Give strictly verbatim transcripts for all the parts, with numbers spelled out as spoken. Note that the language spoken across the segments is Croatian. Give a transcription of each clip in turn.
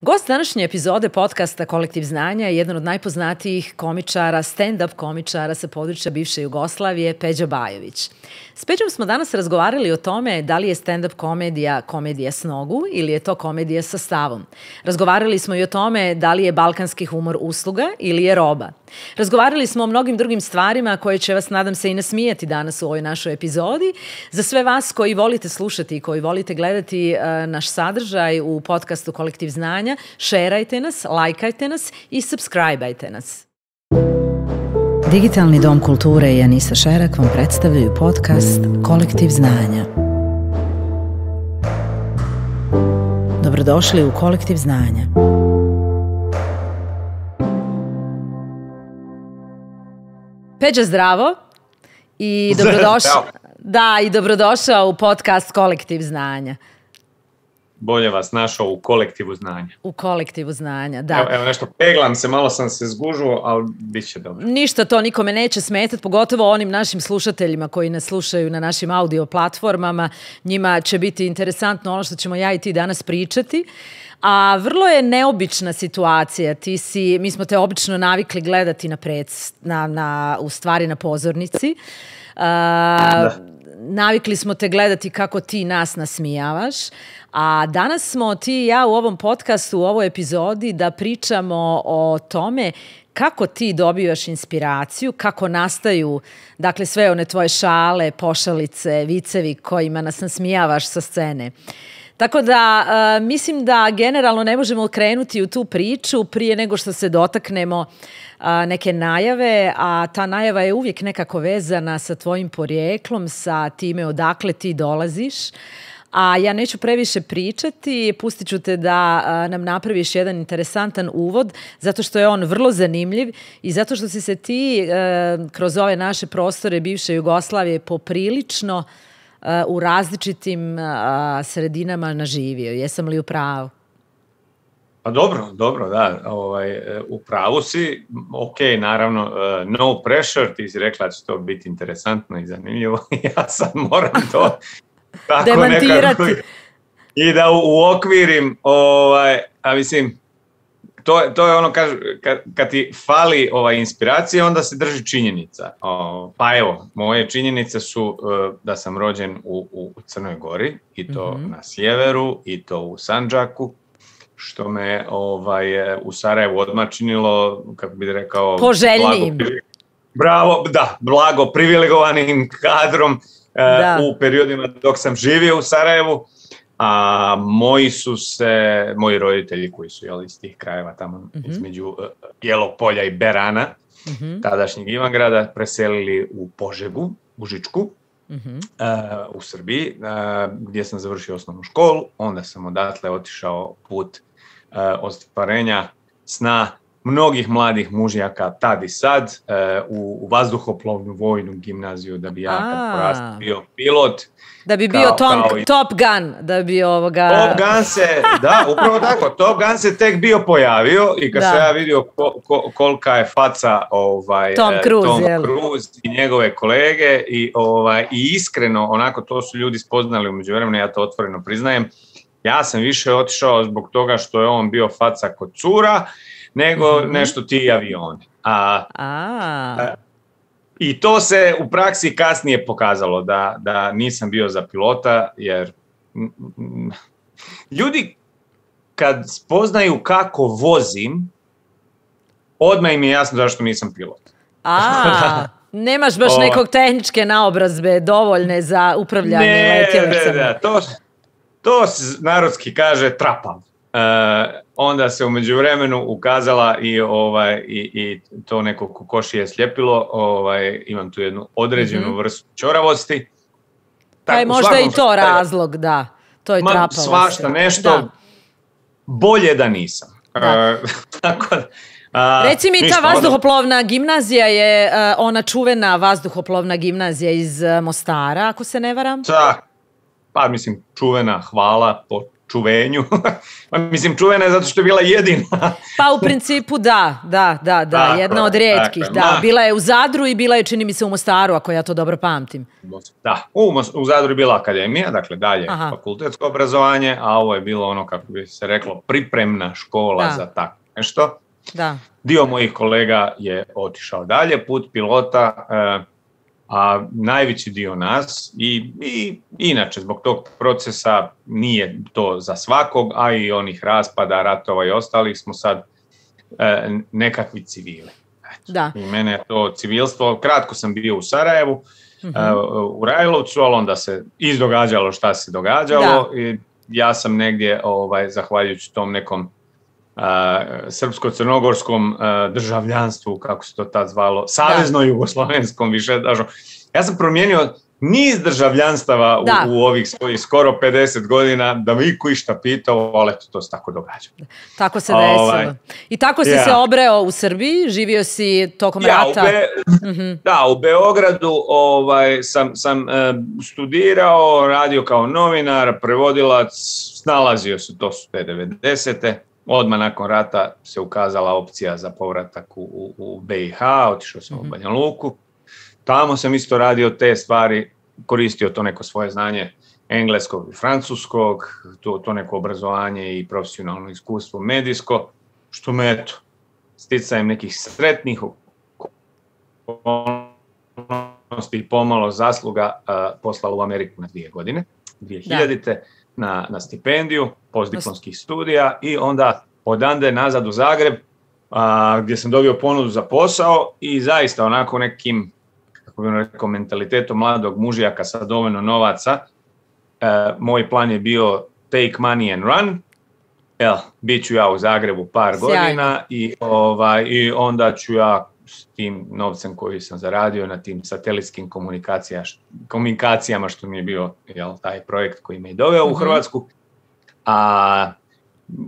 Gost današnje epizode podcasta Kolektiv znanja je jedan od najpoznatijih komičara, stand-up komičara sa područja bivše Jugoslavije, Peđa Bajović. S Peđom smo danas razgovarali o tome da li je stand-up komedija komedija s nogu ili je to komedija sa stavom. Razgovarali smo i o tome da li je balkanski humor usluga ili je roba. Razgovarali smo o mnogim drugim stvarima koje će vas, nadam se, i nasmijati danas u ovoj našoj epizodi. Za sve vas koji volite slušati i koji volite gledati uh, naš sadržaj u podcastu Kolektiv znanja, šerajte nas, lajkajte nas i subscribe-ajte nas. Digitalni dom kulture i Anisa Šerak vam predstavljaju podcast Kolektiv znanja. Dobrodošli u Kolektiv znanja. Peđa, zdravo i dobrodošao. Da, i dobrodošao u podcast Kolektiv znanja. Bolje vas našao u kolektivu znanja. U kolektivu znanja, da. Evo, evo nešto, peglam se, malo sam se zgužuo, ali bit će dobro. Ništa to nikome neće smetati, pogotovo onim našim slušateljima koji nas slušaju na našim audio platformama. Njima će biti interesantno ono što ćemo ja i ti danas pričati. A vrlo je neobična situacija. Ti si, mi smo te obično navikli gledati na predst, na, na, u stvari na pozornici. Uh, navikli smo te gledati kako ti nas nasmijavaš. A danas smo ti i ja u ovom podcastu, u ovoj epizodi da pričamo o tome kako ti dobivaš inspiraciju, kako nastaju, dakle, sve one tvoje šale, pošalice, vicevi kojima nas nasmijavaš sa scene. Tako da, uh, mislim da generalno ne možemo krenuti u tu priču prije nego što se dotaknemo uh, neke najave, a ta najava je uvijek nekako vezana sa tvojim porijeklom, sa time odakle ti dolaziš. A ja neću previše pričati, pustit ću te da a, nam napraviš jedan interesantan uvod, zato što je on vrlo zanimljiv i zato što si se ti a, kroz ove naše prostore bivše Jugoslavije poprilično a, u različitim a, sredinama naživio. Jesam li u pravu? Pa dobro, dobro, da, ovaj, u pravu si, ok, naravno, uh, no pressure, ti si rekla da će to biti interesantno i zanimljivo, ja sad moram to tako demantirati. Nekako, i da uokvirim, ovaj, a mislim, to, to je ono, kad, kad, kad ti fali ovaj, inspiracija, onda se drži činjenica. O, pa evo, moje činjenice su uh, da sam rođen u, u Crnoj Gori, i to mm-hmm. na sjeveru, i to u Sandžaku, što me ovaj, u Sarajevu odmah činilo, kako bih rekao, poželjnijim. Blago, bravo, da, blago privilegovanim kadrom da. Uh, u periodima dok sam živio u Sarajevu, a moji su se, moji roditelji koji su jeli, iz tih krajeva tamo mm-hmm. između uh, Bijelog Polja i Berana, mm-hmm. tadašnjeg Ivangrada, preselili u Požegu, u Žičku, mm-hmm. uh, u Srbiji, uh, gdje sam završio osnovnu školu. Onda sam odatle otišao put uh, ostvarenja sna mnogih mladih mužjaka tad i sad uh, u, u vazduhoplovnu vojnu gimnaziju, da bi ja kad porastao bio pilot. Da bi bio kao, Tom, kao i... Top Gun, da bi ovoga... Top Gun se, da, upravo tako, Top Gun se tek bio pojavio i kad da. sam ja vidio ko, ko, kolika je faca ovaj, Tom Cruise, Tom jel? Cruise i njegove kolege i, ovaj, i iskreno, onako to su ljudi spoznali u međuvremenu, ja to otvoreno priznajem, ja sam više otišao zbog toga što je on bio faca kod cura, nego mm-hmm. nešto ti avioni. A, a. I to se u praksi kasnije pokazalo da, da nisam bio za pilota, jer m, ljudi kad spoznaju kako vozim, odmah im je jasno zašto nisam pilot. A, nemaš baš o, nekog tehničke naobrazbe dovoljne za upravljanje ne, letjelicama. Ne, ne, to, to se narodski kaže trapav. Uh, onda se u međuvremenu ukazala i, ovaj, i, i to neko kokoši je sljepilo, ovaj, imam tu jednu određenu mm-hmm. vrstu ćoravosti. Pa je možda i to slučaju, razlog, da, to je trapavost. Svašta nešto, da. Bolje da nisam. Da. Uh, tako da, uh, Reci mi, ta vazduhoplovna gimnazija je uh, ona čuvena vazduhoplovna gimnazija iz uh, Mostara, ako se ne varam? Da, pa mislim čuvena, hvala, po čuvenju. Mislim, čuvena je zato što je bila jedina. Pa u principu da, da, da, da, tako, jedna od rijetkih. Tako, da. Bila je u Zadru i bila je, čini mi se, u Mostaru, ako ja to dobro pamtim. Da, u, u Zadru je bila akademija, dakle dalje Aha. fakultetsko obrazovanje, a ovo je bilo ono, kako bi se reklo, pripremna škola da. Za tako nešto. Da. Dio mojih kolega je otišao dalje, put pilota, eh, a najveći dio nas i, i inače zbog tog procesa nije to za svakog, a i onih raspada, ratova i ostalih smo sad eh, nekakvi civili. Da. I mene je to civilstvo, kratko sam bio u Sarajevu, mm-hmm. eh, u Rajlovcu, ali onda se izdogađalo šta se događalo da. I ja sam negdje, ovaj, zahvaljujući tom nekom Uh, srpsko-crnogorskom uh, državljanstvu, kako se to tad zvalo, savezno-jugoslovenskom više, dažo. Ja sam promijenio niz državljanstava u, u ovih svojih skoro pedeset godina, da mi iko išta pitao, ali eto, to se tako događa. Tako se desilo. Ovaj, I tako si ja. se obreo u Srbiji, živio si tokom ja, rata. U Be- mm-hmm. Da, u Beogradu ovaj, sam, sam uh, studirao, radio kao novinar, prevodilac, snalazio se, to su te devedesete. Odmah nakon rata se ukazala opcija za povratak u, u, u B i H, otišao sam mm-hmm. u Banja Luku. Tamo sam isto radio te stvari, koristio to neko svoje znanje engleskog i francuskog, to, to neko obrazovanje i profesionalno iskustvo medijsko, što me eto, sticajem nekih sretnih okolnosti i pomalo zasluga uh, poslala u Ameriku na dvije godine, dvije hiljadite. Na, na stipendiju postdiplomskih studija i onda odande nazad u Zagreb a, gdje sam dobio ponudu za posao i zaista onako nekim, kako bih rekao, mentalitetom mladog mužijaka sa dovoljno novaca, e, moj plan je bio take money and run. Evo, bit ću ja u Zagrebu par Sjajno. godina i, ovaj, i onda ću ja s tim novcem koji sam zaradio na tim satelitskim komunikacija, komunikacijama, što mi je bio jel, taj projekt koji me je doveo mm-hmm. u Hrvatsku, a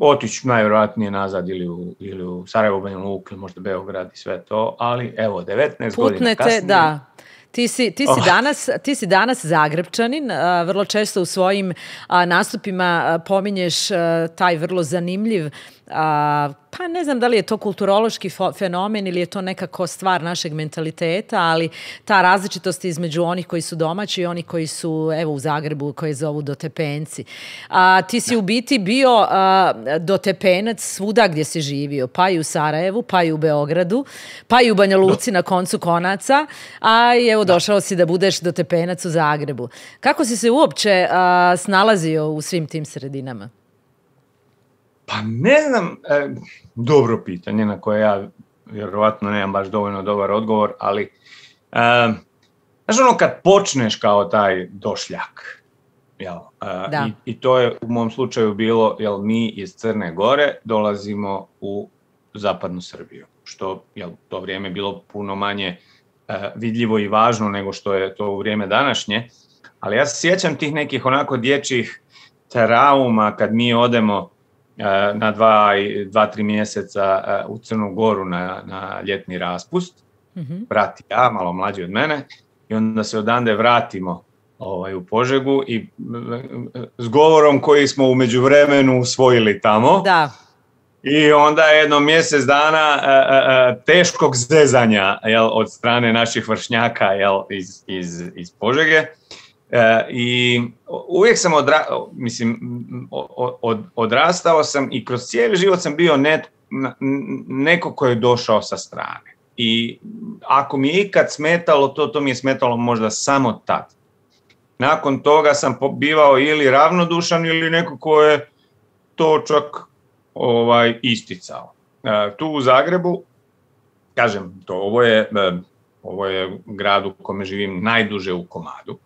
otići najvjerojatnije nazad ili u, ili u Sarajevo, Banja Luku ili možda Beograd i sve to, ali evo, devetnaest Putnete, godina kasnije. Da. Ti si, ti, si oh. danas, ti si danas Zagrepčanin, a, vrlo često u svojim a, nastupima a, pominješ a, taj vrlo zanimljiv, a, pa ne znam da li je to kulturološki fo- fenomen ili je to nekako stvar našeg mentaliteta, ali ta različitost između onih koji su domaći i onih koji su evo u Zagrebu, koji zovu dotepenci. A, ti si u biti bio a, dotepenac svuda gdje si živio, pa i u Sarajevu, pa i u Beogradu, pa i u Banja Luci na koncu konaca, a evo došao si da budeš dotepenac u Zagrebu. Kako si se uopće a, snalazio u svim tim sredinama? Pa ne znam, e, dobro pitanje na koje ja vjerovatno nemam baš dovoljno dobar odgovor, ali e, znaš ono kad počneš kao taj došljak, jel, e, i, i to je u mom slučaju bilo, jel mi iz Crne Gore dolazimo u zapadnu Srbiju, što je to vrijeme bilo puno manje e, vidljivo i važno nego što je to u vrijeme današnje, ali ja se sjećam tih nekih onako dječjih trauma kad mi odemo na dva, dva, tri mjeseca u Crnu Goru na, na ljetni raspust, mm-hmm. brat i ja, malo mlađi od mene, i onda se odande vratimo ovaj, u Požegu i s govorom koji smo u međuvremenu usvojili tamo. Da. I onda jedno mjesec dana a, a, a, teškog zezanja jel, od strane naših vršnjaka jel, iz, iz, iz Požege. E, I uvijek sam odra, mislim, od, odrastao sam i kroz cijeli život sam bio net, neko ko je došao sa strane. I ako mi je ikad smetalo, to, to mi je smetalo možda samo tad. Nakon toga sam bivao ili ravnodušan ili neko ko je to čak ovaj, isticao. E, tu u Zagrebu, kažem, to, ovo, je, ovo je grad u kome živim najduže u komadu.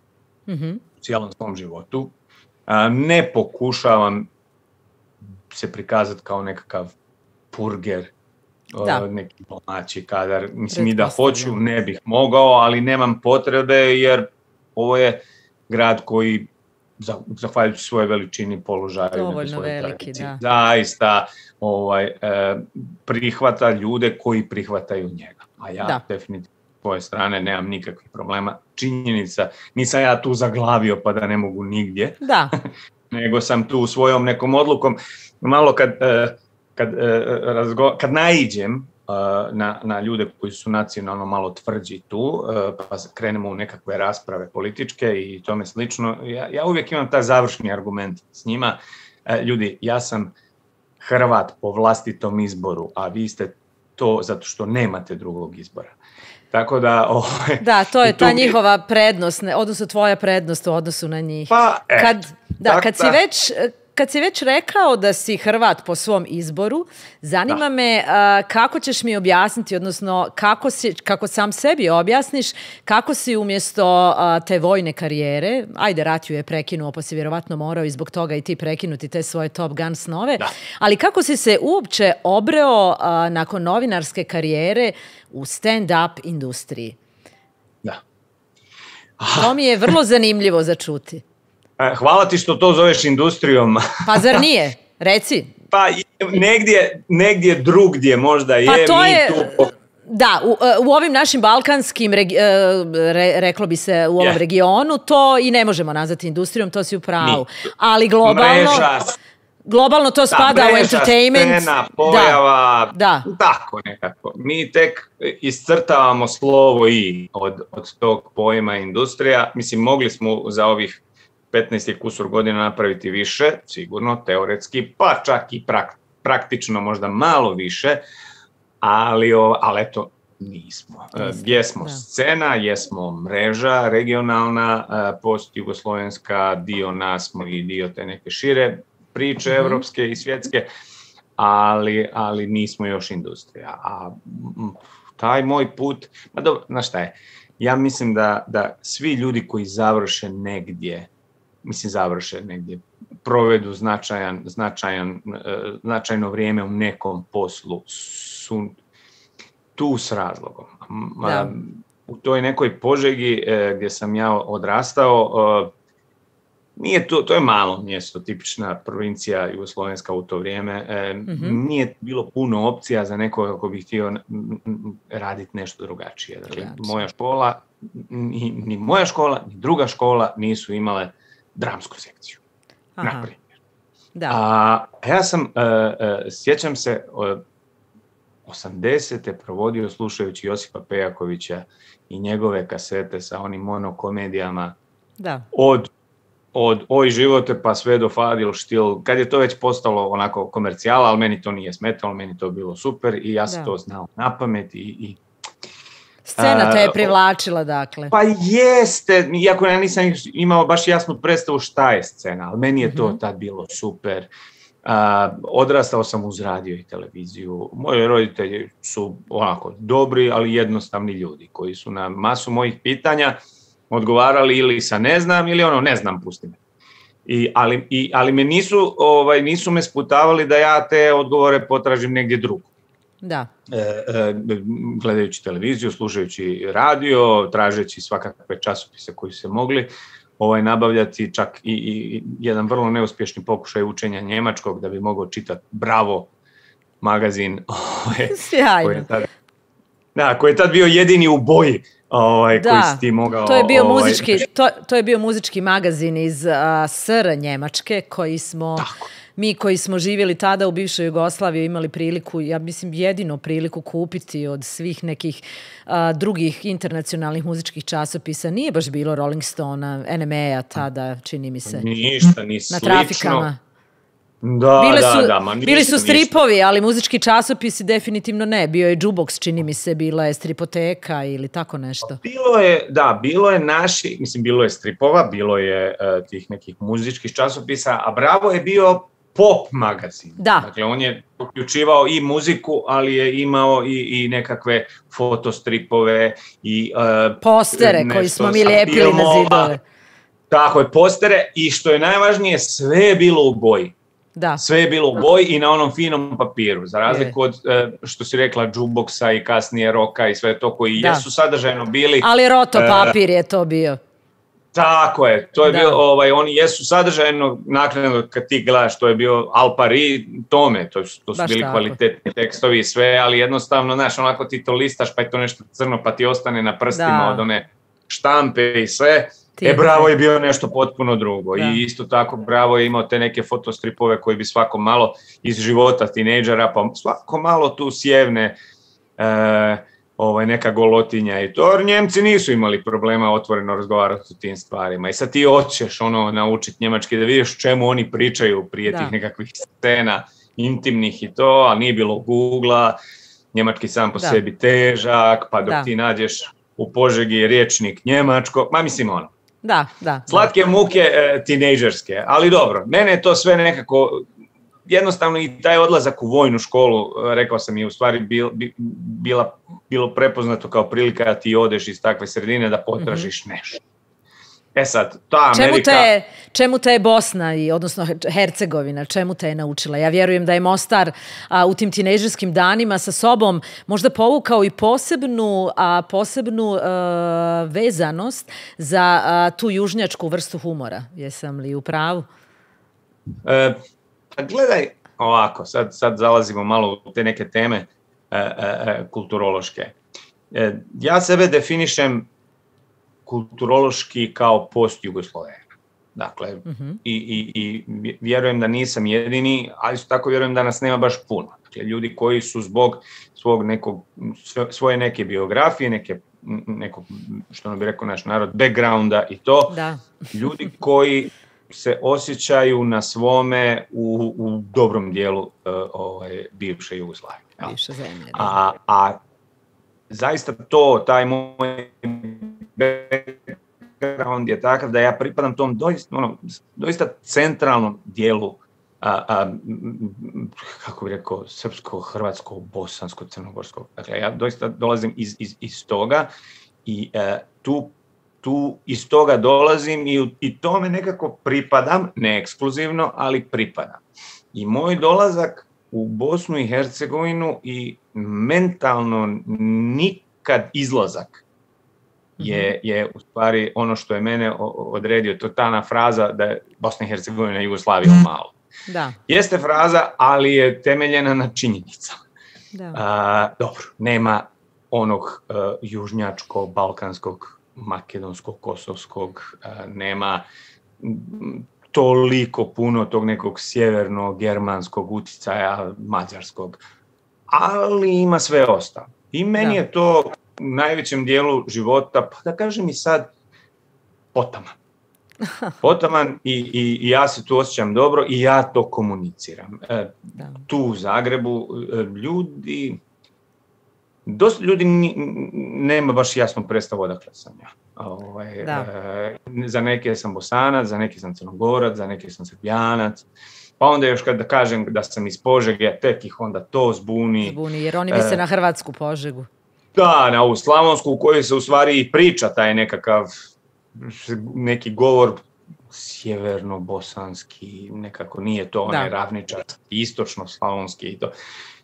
Mm-hmm. U cijelom svom životu. A, ne pokušavam se prikazati kao nekakav purger, o, neki domaći kadar. Mislim i da hoću, ne bih mogao, ali nemam potrebe jer ovo je grad koji, zahvaljujući svoje veličini, položaju, dovoljno veliki, da. Zaista ovaj, e, prihvata ljude koji prihvataju njega. A ja da. definitivno svoje strane nemam nikakvih problema. Činjenica, nisam ja tu zaglavio pa da ne mogu nigdje. Da. nego sam tu svojom nekom odlukom, malo kad, kad, razgo, kad naiđem na, na ljude koji su nacionalno malo tvrđi tu, pa krenemo u nekakve rasprave političke i tome slično, ja, ja uvijek imam taj završni argument s njima, ljudi, ja sam Hrvat po vlastitom izboru, a vi ste to zato što nemate drugog izbora. Tako da... Ovaj, da, to je ta njihova prednost, odnosno tvoja prednost u odnosu na njih. Pa, e, kad, da, tak, kad si već... Kad si već rekao da si Hrvat po svom izboru, zanima da. me uh, kako ćeš mi objasniti, odnosno kako, si, kako sam sebi objasniš, kako si umjesto uh, te vojne karijere, ajde rat ju je prekinuo, pa si vjerovatno morao i zbog toga i ti prekinuti te svoje Top Gun snove, da. ali kako si se uopće obreo uh, nakon novinarske karijere u stand-up industriji? Da. To mi je vrlo zanimljivo za čuti. Hvala ti što to zoveš industrijom. Pa zar nije? Reci. Pa negdje, negdje drugdje možda je. Pa to mi je... Tu... Da, u, u ovim našim balkanskim, regi, re, reklo bi se u ovom yeah. regionu, to i ne možemo nazvati industrijom, to si u pravu. Mi. Ali globalno... Mreža, globalno to spada da, mreža, u entertainment. Scena, pojava, da, da. tako nekako. Mi tek iscrtavamo slovo i od, od tog pojma industrija. Mislim, mogli smo za ovih petnaest kusur godina napraviti više, sigurno, teoretski, pa čak i prak, praktično možda malo više, ali, ali eto, nismo. Jesmo da. Scena, jesmo mreža regionalna, post-jugoslovenska, dio nas smo i dio te neke šire priče mm-hmm. evropske i svjetske, ali, ali nismo još industrija. A taj moj put, pa dobro, znaš šta je, ja mislim da, da svi ljudi koji završe negdje, mislim završe negdje, provedu značajan, značajan, značajno vrijeme u nekom poslu, su tu s razlogom. Da. U toj nekoj Požegi gdje sam ja odrastao, nije to, to je malo mjesto, tipična provincija jugoslovenska u to vrijeme, mm-hmm. nije bilo puno opcija za nekoga kako bi htio raditi nešto drugačije. Dakle, moja škola, ni, ni moja škola, ni druga škola nisu imale dramsku sekciju, na primjer. Da. A ja sam, uh, uh, sjećam se, uh, osamdesete provodio slušajući Josipa Pejakovića i njegove kasete sa onim monokomedijama da. od, od Oj živote pa sve do Fadil štil, kad je to već postalo onako komercijala, ali meni to nije smetalo, meni to bilo super i ja sam da. to znao na pamet i, i Scena te je privlačila, dakle. Pa jeste, iako ja nisam imao baš jasnu predstavu šta je scena, ali meni je to mm-hmm. tad bilo super. Uh, odrastao sam uz radio i televiziju. Moji roditelji su onako dobri, ali jednostavni ljudi koji su na masu mojih pitanja odgovarali ili sa ne znam ili ono ne znam, pusti me. I, ali, i, ali me nisu, ovaj, nisu me sputavali da ja te odgovore potražim negdje drugo. Da. E, e, gledajući televiziju, slušajući radio, tražeći svakakve časopise koji se mogli ovaj, nabavljati, čak i, i jedan vrlo neuspješni pokušaj učenja njemačkog da bi mogao čitati Bravo magazin. Ovaj, Sjajno. Koji je tad, da, koji je tad bio jedini u boji ovaj, da, koji si ti mogao... To je bio, ovaj, muzički, to, to je bio muzički magazin iz uh, S R Njemačke koji smo... Tako. Mi koji smo živjeli tada u bivšoj Jugoslaviji imali priliku, ja mislim jedino priliku kupiti od svih nekih uh, drugih internacionalnih muzičkih časopisa. Nije baš bilo Rolling Stone-a, N M E-a tada, čini mi se. Ništa, ni slično. Na trafikama. Da, bile su, da, da, ma ništa, bili su stripovi, ništa. Ali muzički časopisi definitivno ne. Bio je Jukebox, čini mi se, bila je stripoteka ili tako nešto. Bilo je, da, bilo je naši, mislim, bilo je stripova, bilo je uh, tih nekih muzičkih časopisa, a Bravo je bio pop magazin. Da. Dakle, on je uključivao i muziku, ali je imao i, i nekakve fotostripove i uh, postere koji smo mi lijepili filmova, na zidove. Tako je, postere i što je najvažnije, sve je bilo u boji. Da. Sve je bilo u boji i na onom finom papiru, za razliku od, što si rekla, jukeboxa i kasnije roka i sve to koji da. jesu sadržajno bili. Ali roto papir uh, je to bio. Tako je, to je da. bio, ovaj, oni jesu sadržajno, naknadno kad ti gledaš, to je bio Al Pari, tome, to, to su baš bili tako. Kvalitetni tekstovi i sve, ali jednostavno, znaš, onako ti to listaš, pa je to nešto crno, pa ti ostane na prstima da. od one štampe i sve. E, Bravo je bio nešto potpuno drugo. Da. I isto tako Bravo je imao te neke fotostripove koji bi svako malo iz života tinejdžera, pa svako malo tu sjevne e, ovaj, neka golotinja i to. Njemci nisu imali problema otvoreno razgovarati o tim stvarima. I sad ti hoćeš ono naučiti njemački da vidiš čemu oni pričaju prije da. Tih nekakvih scena intimnih i to, a nije bilo Google-a, njemački sam po da. Sebi težak, pa dok da. Ti nađeš u Požegi rječnik njemačko, ma mislim ono. Da, da. Slatke da. Muke e, tinejdžerske, ali dobro, mene je to sve nekako, jednostavno i taj odlazak u vojnu školu, rekao sam, je u stvari bil, bila, bilo prepoznato kao prilika da ti odeš iz takve sredine da potražiš mm-hmm. nešto. E sad, ta Amerika... Čemu te, čemu te je Bosna, i, odnosno Hercegovina, čemu te je naučila? Ja vjerujem da je Mostar a, u tim tinejdžerskim danima sa sobom možda povukao i posebnu, a, posebnu a, vezanost za a, tu južnjačku vrstu humora. Jesam li u pravu? E, pa gledaj, ovako, sad, sad zalazimo malo u te neke teme e, e, kulturološke. E, ja sebe definišem kulturološki kao post-Jugoslovena. Dakle, uh-huh. i, i, i vjerujem da nisam jedini, ali isto tako vjerujem da nas nema baš puno. Dakle, ljudi koji su zbog svog nekog, svoje neke biografije, neke, nekog, što ono bi rekao naš narod, backgrounda i to, da. Ljudi koji se osjećaju na svome u, u dobrom dijelu uh, ovaj, bivše Jugoslavije. Bivše zemlje. A, a zaista to, taj moj background je takav da ja pripadam tom doista, ono, doista centralnom dijelu, a, a, kako bih rekao, srpsko, hrvatsko, bosansko, crnogorsko. Dakle, ja doista dolazim iz, iz, iz toga i a, tu, tu iz toga dolazim i, i tome nekako pripadam, ne ekskluzivno, ali pripadam. I moj dolazak u Bosnu i Hercegovinu i mentalno nikad izlazak je, je u stvari ono što je mene odredio. To je ta fraza da je Bosna i Hercegovina Jugoslavija malo. Da. Jeste fraza, ali je temeljena na činjenicama. Da. A, dobro, nema onog uh, južnjačkog, balkanskog, makedonskog, kosovskog, uh, nema m, toliko puno tog nekog sjevernog, germanskog uticaja, mađarskog, ali ima sve ostalo. I meni da. Je to u najvećem dijelu života, pa da kažem i sad, potaman. Potaman i, i, i ja se tu osjećam dobro i ja to komuniciram. E, tu u Zagrebu ljudi, dosta ljudi ni, nema baš jasno predstavu odakle sam ja. Ovaj, e, za neke sam Bosanac, za neke sam Crnogorac, za neke sam Srbijanac. Pa onda još kada kažem da sam iz Požege, tek ih onda to zbuni. Zbuni, jer oni misle e, na hrvatsku Požegu. Da, na ovu slavonsku u kojoj se u stvari i priča taj nekakav neki govor sjeverno-bosanski, nekako nije to onaj ravničarski, istočno-slavonski i to.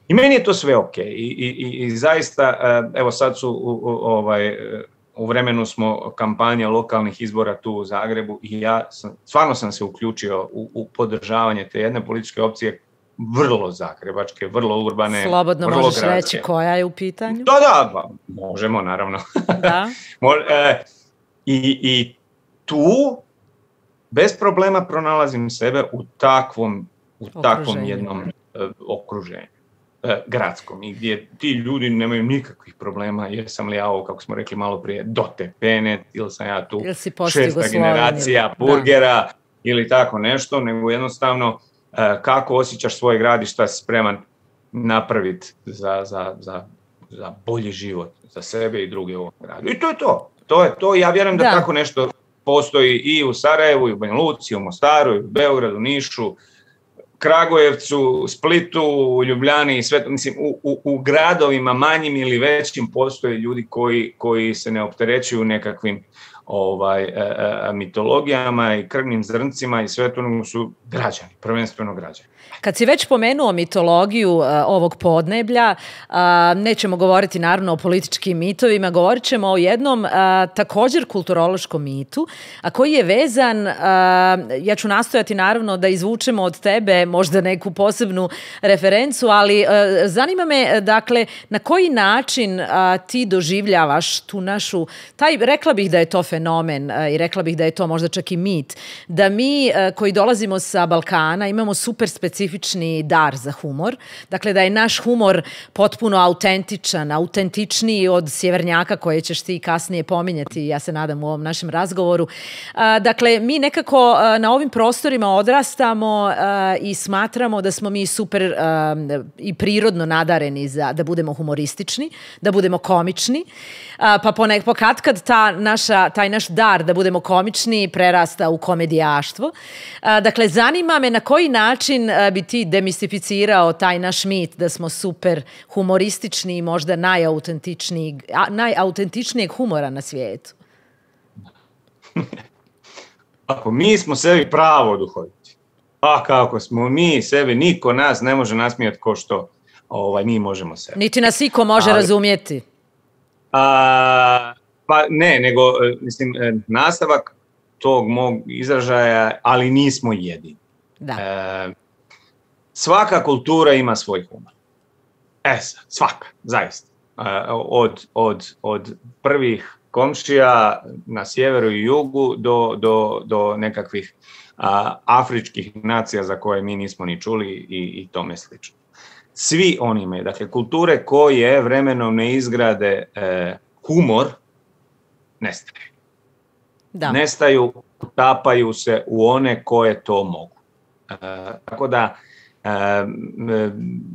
I meni je to sve ok. I, i, i zaista, evo sad su u, u, ovaj, u vremenu smo kampanja lokalnih izbora tu u Zagrebu i ja sam, stvarno sam se uključio u, u podržavanje te jedne političke opcije, vrlo zagrebačke, vrlo urbane. Slobodno vrlo možeš gradske. Reći koja je u pitanju? Da, da, pa, možemo, naravno. Da. e, i, I tu bez problema pronalazim sebe u takvom, u takvom jednom uh, okruženju, uh, gradskom, i gdje ti ljudi nemaju nikakvih problema, jesam li ja ovo, kako smo rekli malo prije, do tepene, ili sam ja tu šesta generacija burgera, da. Ili tako nešto, nego jednostavno kako osjećaš svoj grad i šta si spreman napraviti za, za, za, za bolji život, za sebe i druge u ovom gradu. I to je to. To je to. Ja vjerujem da, da tako nešto postoji i u Sarajevu, i u Banja Luci, i u Mostaru, i u Beogradu, Nišu, Kragujevcu, Splitu, u Ljubljani i sve. Mislim, u, u, u gradovima manjim ili većim postoje ljudi koji, koji se ne opterećuju nekakvim ovaj, e, e, mitologijama i krvnim zrncima i sve to, nego su građani, prvenstveno građani. Kad si već pomenuo mitologiju uh, ovog podneblja, uh, nećemo govoriti naravno o političkim mitovima, govorit ćemo o jednom uh, također kulturološkom mitu, a koji je vezan, uh, ja ću nastojati naravno da izvučemo od tebe možda neku posebnu referencu, ali uh, zanima me, dakle, na koji način uh, ti doživljavaš tu našu, taj, rekla bih da je to fenomen fenomen i rekla bih da je to možda čak i mit, da mi koji dolazimo sa Balkana imamo super specifični dar za humor. Dakle, da je naš humor potpuno autentičan, autentičniji od sjevernjaka koje ćeš ti kasnije pominjati, ja se nadam u ovom našem razgovoru. Dakle, mi nekako na ovim prostorima odrastamo i smatramo da smo mi super i prirodno nadareni za da budemo humoristični, da budemo komični, pa ponek, pokatkad ta naša, taj naš dar da budemo komični prerasta u komedijaštvo. Dakle, zanima me na koji način bi ti demistificirao taj naš mit da smo super humoristični i možda najautentičnijeg, najautentičnijeg humora na svijetu. Ako mi smo sebi pravo duhoviti, a kako smo mi sebi, niko nas ne može nasmijati ko što ovaj, mi možemo sebi. Niti nas iko može Ali, razumjeti. A, pa ne, nego mislim, nastavak tog mog izražaja, ali nismo jedini. Da. E, svaka kultura ima svoj humor. E sad, svaka, zaista. E, od, od, od prvih komšija na sjeveru i jugu do, do, do nekakvih a, afričkih nacija za koje mi nismo ni čuli i, i tome slično. Svi oni imaju, dakle, kulture koje vremenom ne izgrade e, humor, nestaju. Da. Nestaju, utapaju se u one koje to mogu. E, tako da, e,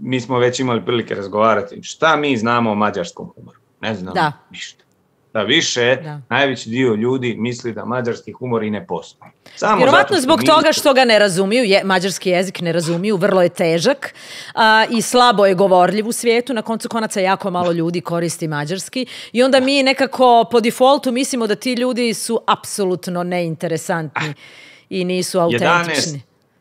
mi smo već imali prilike razgovarati. Šta mi znamo o mađarskom humoru? Ne znamo da. ništa. Da više, da. najveći dio ljudi misli da mađarski humor i ne postoji. Samo vjerovatno zbog mi... toga što ga ne razumiju, je, mađarski jezik ne razumiju, vrlo je težak a, i slabo je govorljiv u svijetu, na koncu konaca jako malo ljudi koristi mađarski i onda mi nekako po defaultu mislimo da ti ljudi su apsolutno neinteresantni i nisu autentični. jedanaest,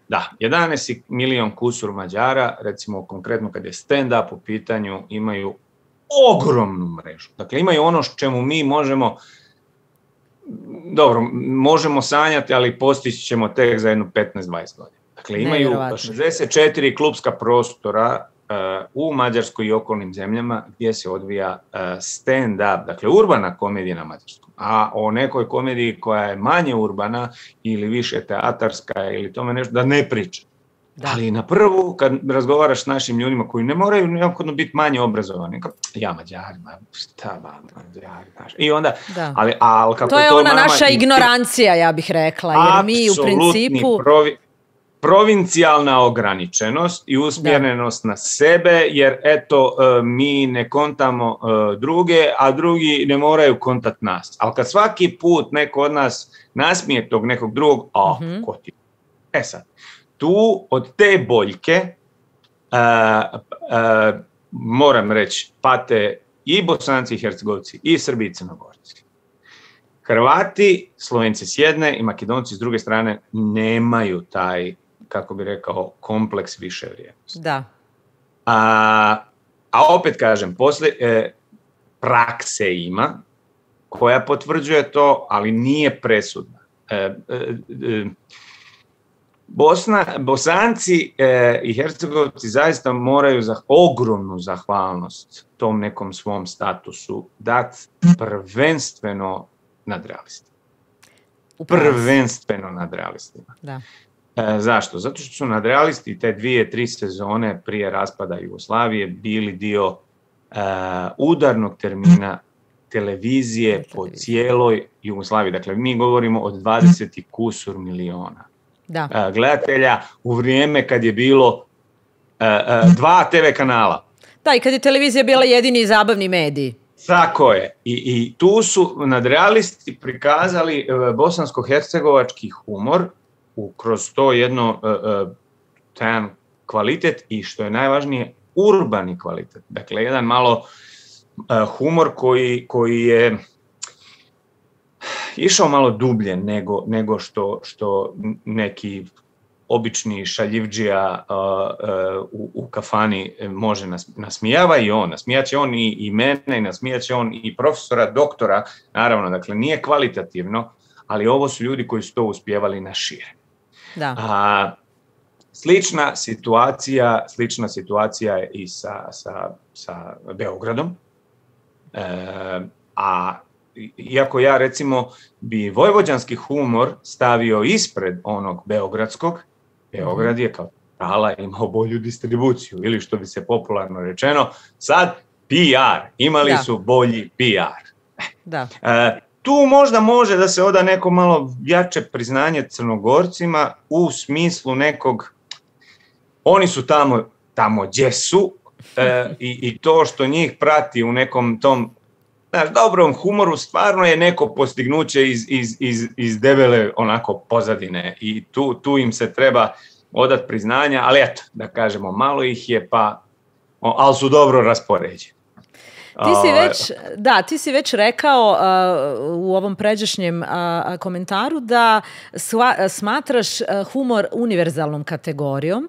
da, jedanaest milion kusur Mađara, recimo konkretno kad je stand-up u pitanju, imaju ogromnu mrežu. Dakle, imaju ono čemu mi možemo, dobro, možemo sanjati, ali postići ćemo tek za jednu petnaest dvadeset godina. Dakle, imaju šezdeset četiri klupska prostora uh, u Mađarskoj i okolnim zemljama gdje se odvija uh, stand-up, dakle, urbana komedija na mađarskom. A o nekoj komediji koja je manje urbana ili više teatarska ili tome nešto, da ne priča. Da. Ali na prvu, kad razgovaraš s našim ljudima koji ne moraju neophodno biti manje obrazovani, kao, ja Mađarima, šta ba, Mađari, znaš. I onda, ali, ali kako to je to ona nama, naša i, ignorancija, ja bih rekla, jer mi u principu... Provi, provincijalna ograničenost i usmjerenost da. na sebe, jer eto, mi ne kontamo druge, a drugi ne moraju kontat nas. Ali kad svaki put neko od nas nasmije tog nekog drugog, a, mm-hmm. ko ti? E sad, tu od te boljke uh, uh, moram reći pate i Bosanci i Hercegovci i Srbi i Crnogorci. Hrvati, Slovenci s jedne i Makedonci s druge strane nemaju taj, kako bi rekao, kompleks više vrijednosti. Da. A, a opet kažem, poslije e, prakse ima koja potvrđuje to, ali nije presudna. E, e, e, Bosna, Bosanci e, i Hercegovci zaista moraju za ogromnu zahvalnost tom nekom svom statusu dati prvenstveno nadrealistima. Prvenstveno nadrealistima. Da. E, zašto? Zato što su nadrealisti te dvije, tri sezone prije raspada Jugoslavije bili dio e, udarnog termina televizije po cijeloj Jugoslaviji. Dakle, mi govorimo od dvadeset kusur miliona. Da. Gledatelja u vrijeme kad je bilo uh, uh, dva te ve kanala. Da, i kad je televizija bila jedini zabavni medij. Tako je. I, i tu su nadrealisti prikazali uh, bosansko-hercegovački humor u, kroz to jedno uh, uh, tajan kvalitet i što je najvažnije urbani kvalitet. Dakle, jedan malo uh, humor koji, koji je išao malo dublje nego, nego što, što neki obični šaljivdžija uh, uh, u, u kafani može nas, nasmijava i on. Nasmijat će on i, i mene, i nasmijat će on i profesora, doktora, naravno, dakle nije kvalitativno, ali ovo su ljudi koji su to uspijevali na šire. Da. A, slična situacija, slična situacija je i sa, sa, sa Beogradom, e, a iako ja recimo bi vojvođanski humor stavio ispred onog beogradskog, Beograd je kao Trala imao bolju distribuciju, ili što bi se popularno rečeno, sad P R, imali da. su bolji P R. Da. E, tu možda može da se oda neko malo jače priznanje Crnogorcima u smislu nekog, oni su tamo, tamo gdje su, e, i, i to što njih prati u nekom tom, znaš, dobrom humoru stvarno je neko postignuće iz, iz, iz, iz debele onako pozadine i tu, tu im se treba odat priznanja, ali eto, da kažemo, malo ih je, pa, ali su dobro raspoređeni. Ti si već, da, ti si već rekao uh, u ovom pređašnjem uh, komentaru da sva, smatraš uh, humor univerzalnom kategorijom.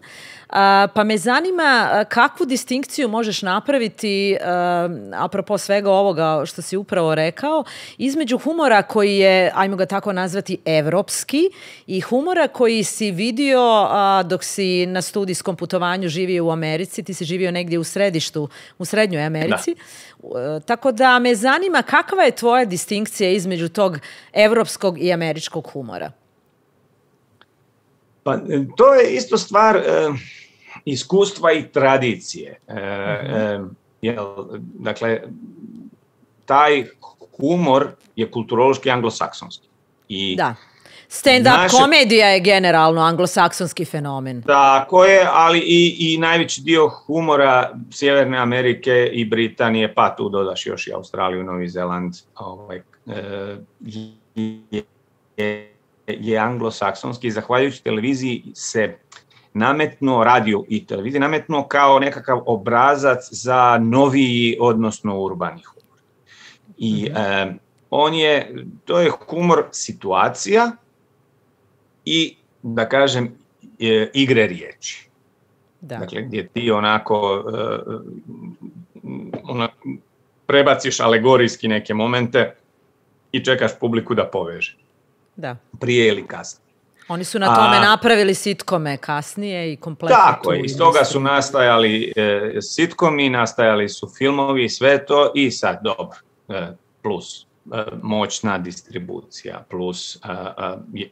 Uh, pa me zanima uh, kakvu distinkciju možeš napraviti, uh, apropo svega ovoga što si upravo rekao, između humora koji je, ajmo ga tako nazvati, evropski i humora koji si vidio uh, dok si na studijskom putovanju živio u Americi, ti si živio negdje u središtu, u Srednjoj Americi. Da. Tako da me zanima kakva je tvoja distinkcija između tog evropskog i američkog humora? Pa to je isto stvar e, iskustva i tradicije. E, mm-hmm. e, jel, dakle, taj humor je kulturološki anglosaksonski. I da. Stand-up naše... komedija je generalno anglosaksonski fenomen. Tako je, ali i, i najveći dio humora Sjeverne Amerike i Britanije, pa tu dodaš još i Australiju, Novi Zeland, ovaj, je, je, je anglosaksonski. Zahvaljujući televiziji se nametnuo, radio i televiziji, nametnuo kao nekakav obrazac za noviji, odnosno urbani humor. I mm-hmm. eh, on je, to je humor situacija i, da kažem, e, igre riječi. Da. Dakle, gdje ti onako, e, onako prebaciš alegorijski neke momente i čekaš publiku da poveže. Da. Prije ili kasnije. Oni su na tome A, napravili sitkome kasnije i kompletno. Tako je, iz toga su nastajali e, sitkomi, nastajali su filmovi i sve to, i sad dobro, e, plus moćna distribucija, plus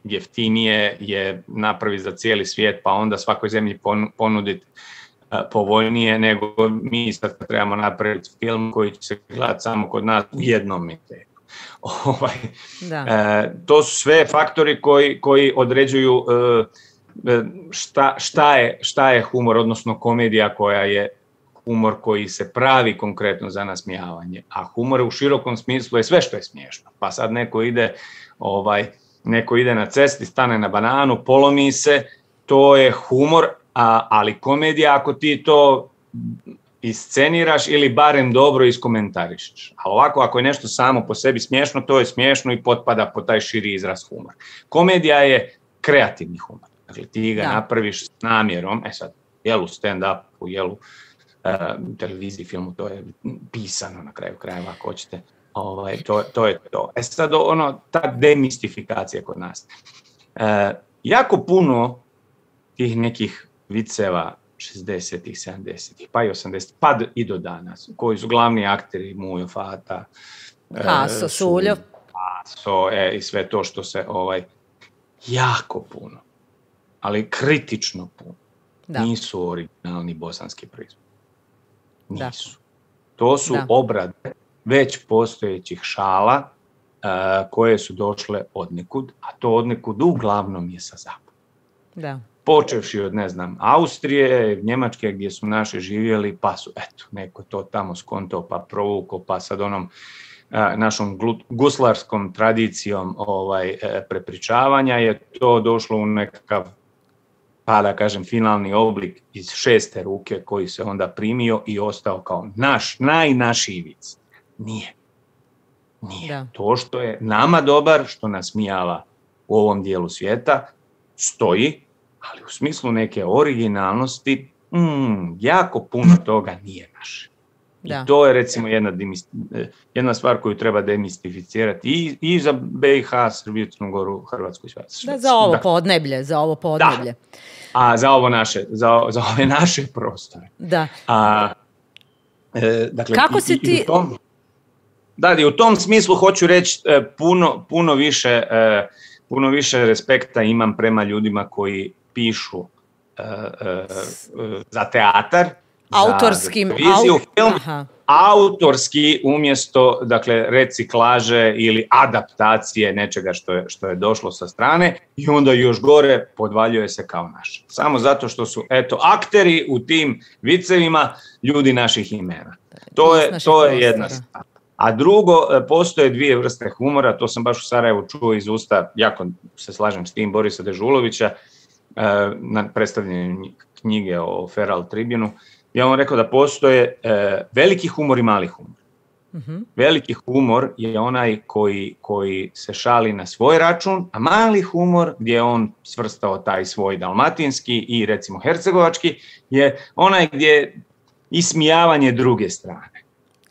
jeftinije je napravi za cijeli svijet, pa onda svakoj zemlji ponuditi povoljnije nego mi sad trebamo napraviti film koji će se gledati samo kod nas u jednom miteku. Ovaj, e, to su sve faktori koji, koji određuju e, šta, šta, je, šta je humor, odnosno komedija koja je humor koji se pravi konkretno za nasmijavanje, a humor u širokom smislu je sve što je smiješno. Pa sad neko ide, ovaj, neko ide na cesti, stane na bananu, polomi se, to je humor, a, ali komedija ako ti to isceniraš ili barem dobro iskomentarišeš. A ovako, ako je nešto samo po sebi smiješno, to je smiješno i potpada po taj širi izraz humor. Komedija je kreativni humor. Dakle, ti ga da. napraviš s namjerom, e sad, jelu stand-upu, jelu Uh, televiziji, filmu, to je pisano na kraju krajeva, ako hoćete. Ovaj, to, to je to. E sad, ono, ta demistifikacija kod nas. Uh, jako puno tih nekih viceva šezdesetih, sedamdesetih, pa i osamdesetih, pa i do danas, koji su glavni akteri, Mujo, Fata, Haso, Suljo. Haso, e, i sve to što se, ovaj, jako puno, ali kritično puno, da. nisu originalni bosanski proizvod. Nisu. Da. To su da. obrade već postojećih šala uh, koje su došle odnekud, a to odnekud uglavnom je sa zapada. Da. Počevši od, ne znam, Austrije, Njemačke gdje su naši živjeli, pa su, eto, neko to tamo skontao, pa provukao, pa sad onom uh, našom glu, guslarskom tradicijom ovaj, uh, prepričavanja je to došlo u nekakav, pa da kažem, finalni oblik iz šeste ruke koji se onda primio i ostao kao naš, najnašiji vic. Nije. Nije. Da. To što je nama dobar, što nas smijava u ovom dijelu svijeta, stoji, ali u smislu neke originalnosti, mm, jako puno toga nije naše. Da. I to je recimo jedna, jedna stvar koju treba demistificirati i, i za B i H, Srbiju, Crnu Goru, Hrvatsku i sve. Da, za ovo podneblje, za ovo podneblje. Da. A za ovo naše, za, za ove naše prostore. Da. A, e, dakle, kako i, si ti... Tom... da, i u tom smislu hoću reći puno, puno, više, puno više respekta imam prema ljudima koji pišu za teatar, autorskim, za televiziju, au... film, Aha. autorski umjesto, dakle, reciklaže ili adaptacije nečega što je, što je došlo sa strane i onda još gore podvaljuje se kao naš. Samo zato što su, eto, akteri u tim vicevima ljudi naših imena. To je, to je jedna stvar. A drugo, postoje dvije vrste humora, to sam baš u Sarajevu čuo iz usta, jako se slažem s tim, Borisa Dežulovića, na predstavljanju knjige o Feral Tribunu. Ja vam rekao da postoje e, veliki humor i mali humor. Mm-hmm. Veliki humor je onaj koji, koji se šali na svoj račun, a mali humor gdje je on svrstao taj svoj dalmatinski i recimo hercegovački je onaj gdje je ismijavanje druge strane.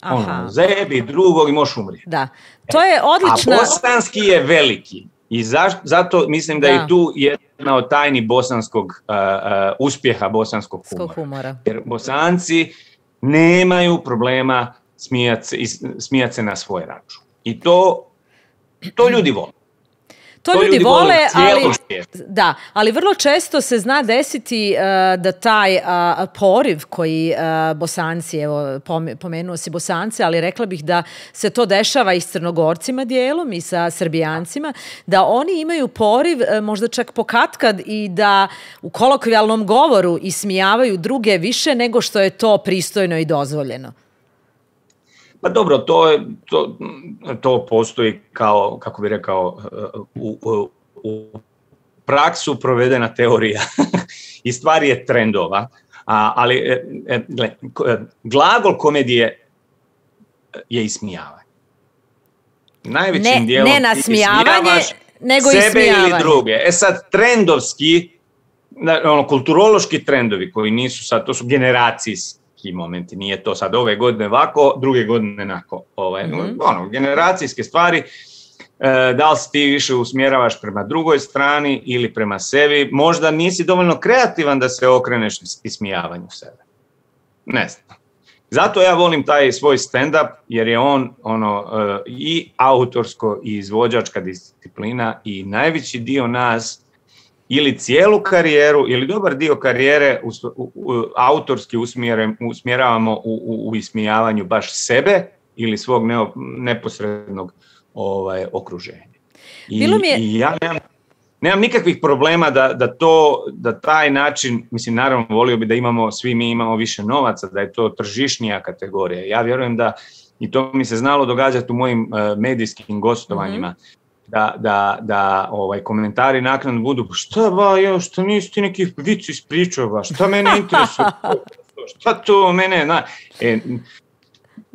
Aha. Ono, zajebi drugog i možeš umrijeti. Da, to je odlična... A bosanski je veliki i za, zato mislim da, da je tu jedna od tajni bosanskog uh, uh, uspjeha bosanskog humora. humora. Jer Bosanci nemaju problema smijati se, smijat se na svoj račun. I to, to ljudi vole. To, to ljudi, ljudi vole, vole ali, da, ali vrlo često se zna desiti uh, da taj uh, poriv koji uh, Bosanci, evo pomenuo si Bosance, ali rekla bih da se to dešava i s Crnogorcima dijelom i sa Srbijancima, da oni imaju poriv uh, možda čak pokatkad i da u kolokvijalnom govoru ismijavaju druge više nego što je to pristojno i dozvoljeno. Pa dobro, to, je, to, to postoji kao, kako bih rekao, u, u, u praksu provedena teorija i stvar je trendova, a, ali e, gle, glagol komedije je ismijavanje. Najvećim ne, dijelom ne nasmijavanje, nego sebe ismijavanje. Ili druge. E sad, trendovski, ono, kulturološki trendovi koji nisu sad, to su generacijski momenti, nije to sad ove godine ovako, druge godine onako. Ovaj, mm-hmm. ono, generacijske stvari, e, da li si ti više usmjeravaš prema drugoj strani ili prema sebi, možda nisi dovoljno kreativan da se okreneš ismijavanju sebe. Ne znam. Zato ja volim taj svoj stand-up, jer je on ono, e, i autorsko i izvođačka disciplina i najveći dio nas ili cijelu karijeru, ili dobar dio karijere u, u, u, autorski usmjeravamo u, u, u ismijavanju baš sebe ili svog neo, neposrednog ovaj, okruženja. I, Bilo mi je... i ja nemam, nemam nikakvih problema da, da, to, da taj način, mislim, naravno volio bi da imamo, svi mi imamo više novaca, da je to tržišnija kategorija. Ja vjerujem da, i to mi se znalo događati u mojim uh, medijskim gostovanjima, mm-hmm. da, da, da ovaj, komentari naknadno budu, šta ba, jo, šta nisi ti neki vic ispričao, ba, šta mene interesuje, šta to mene, na, e,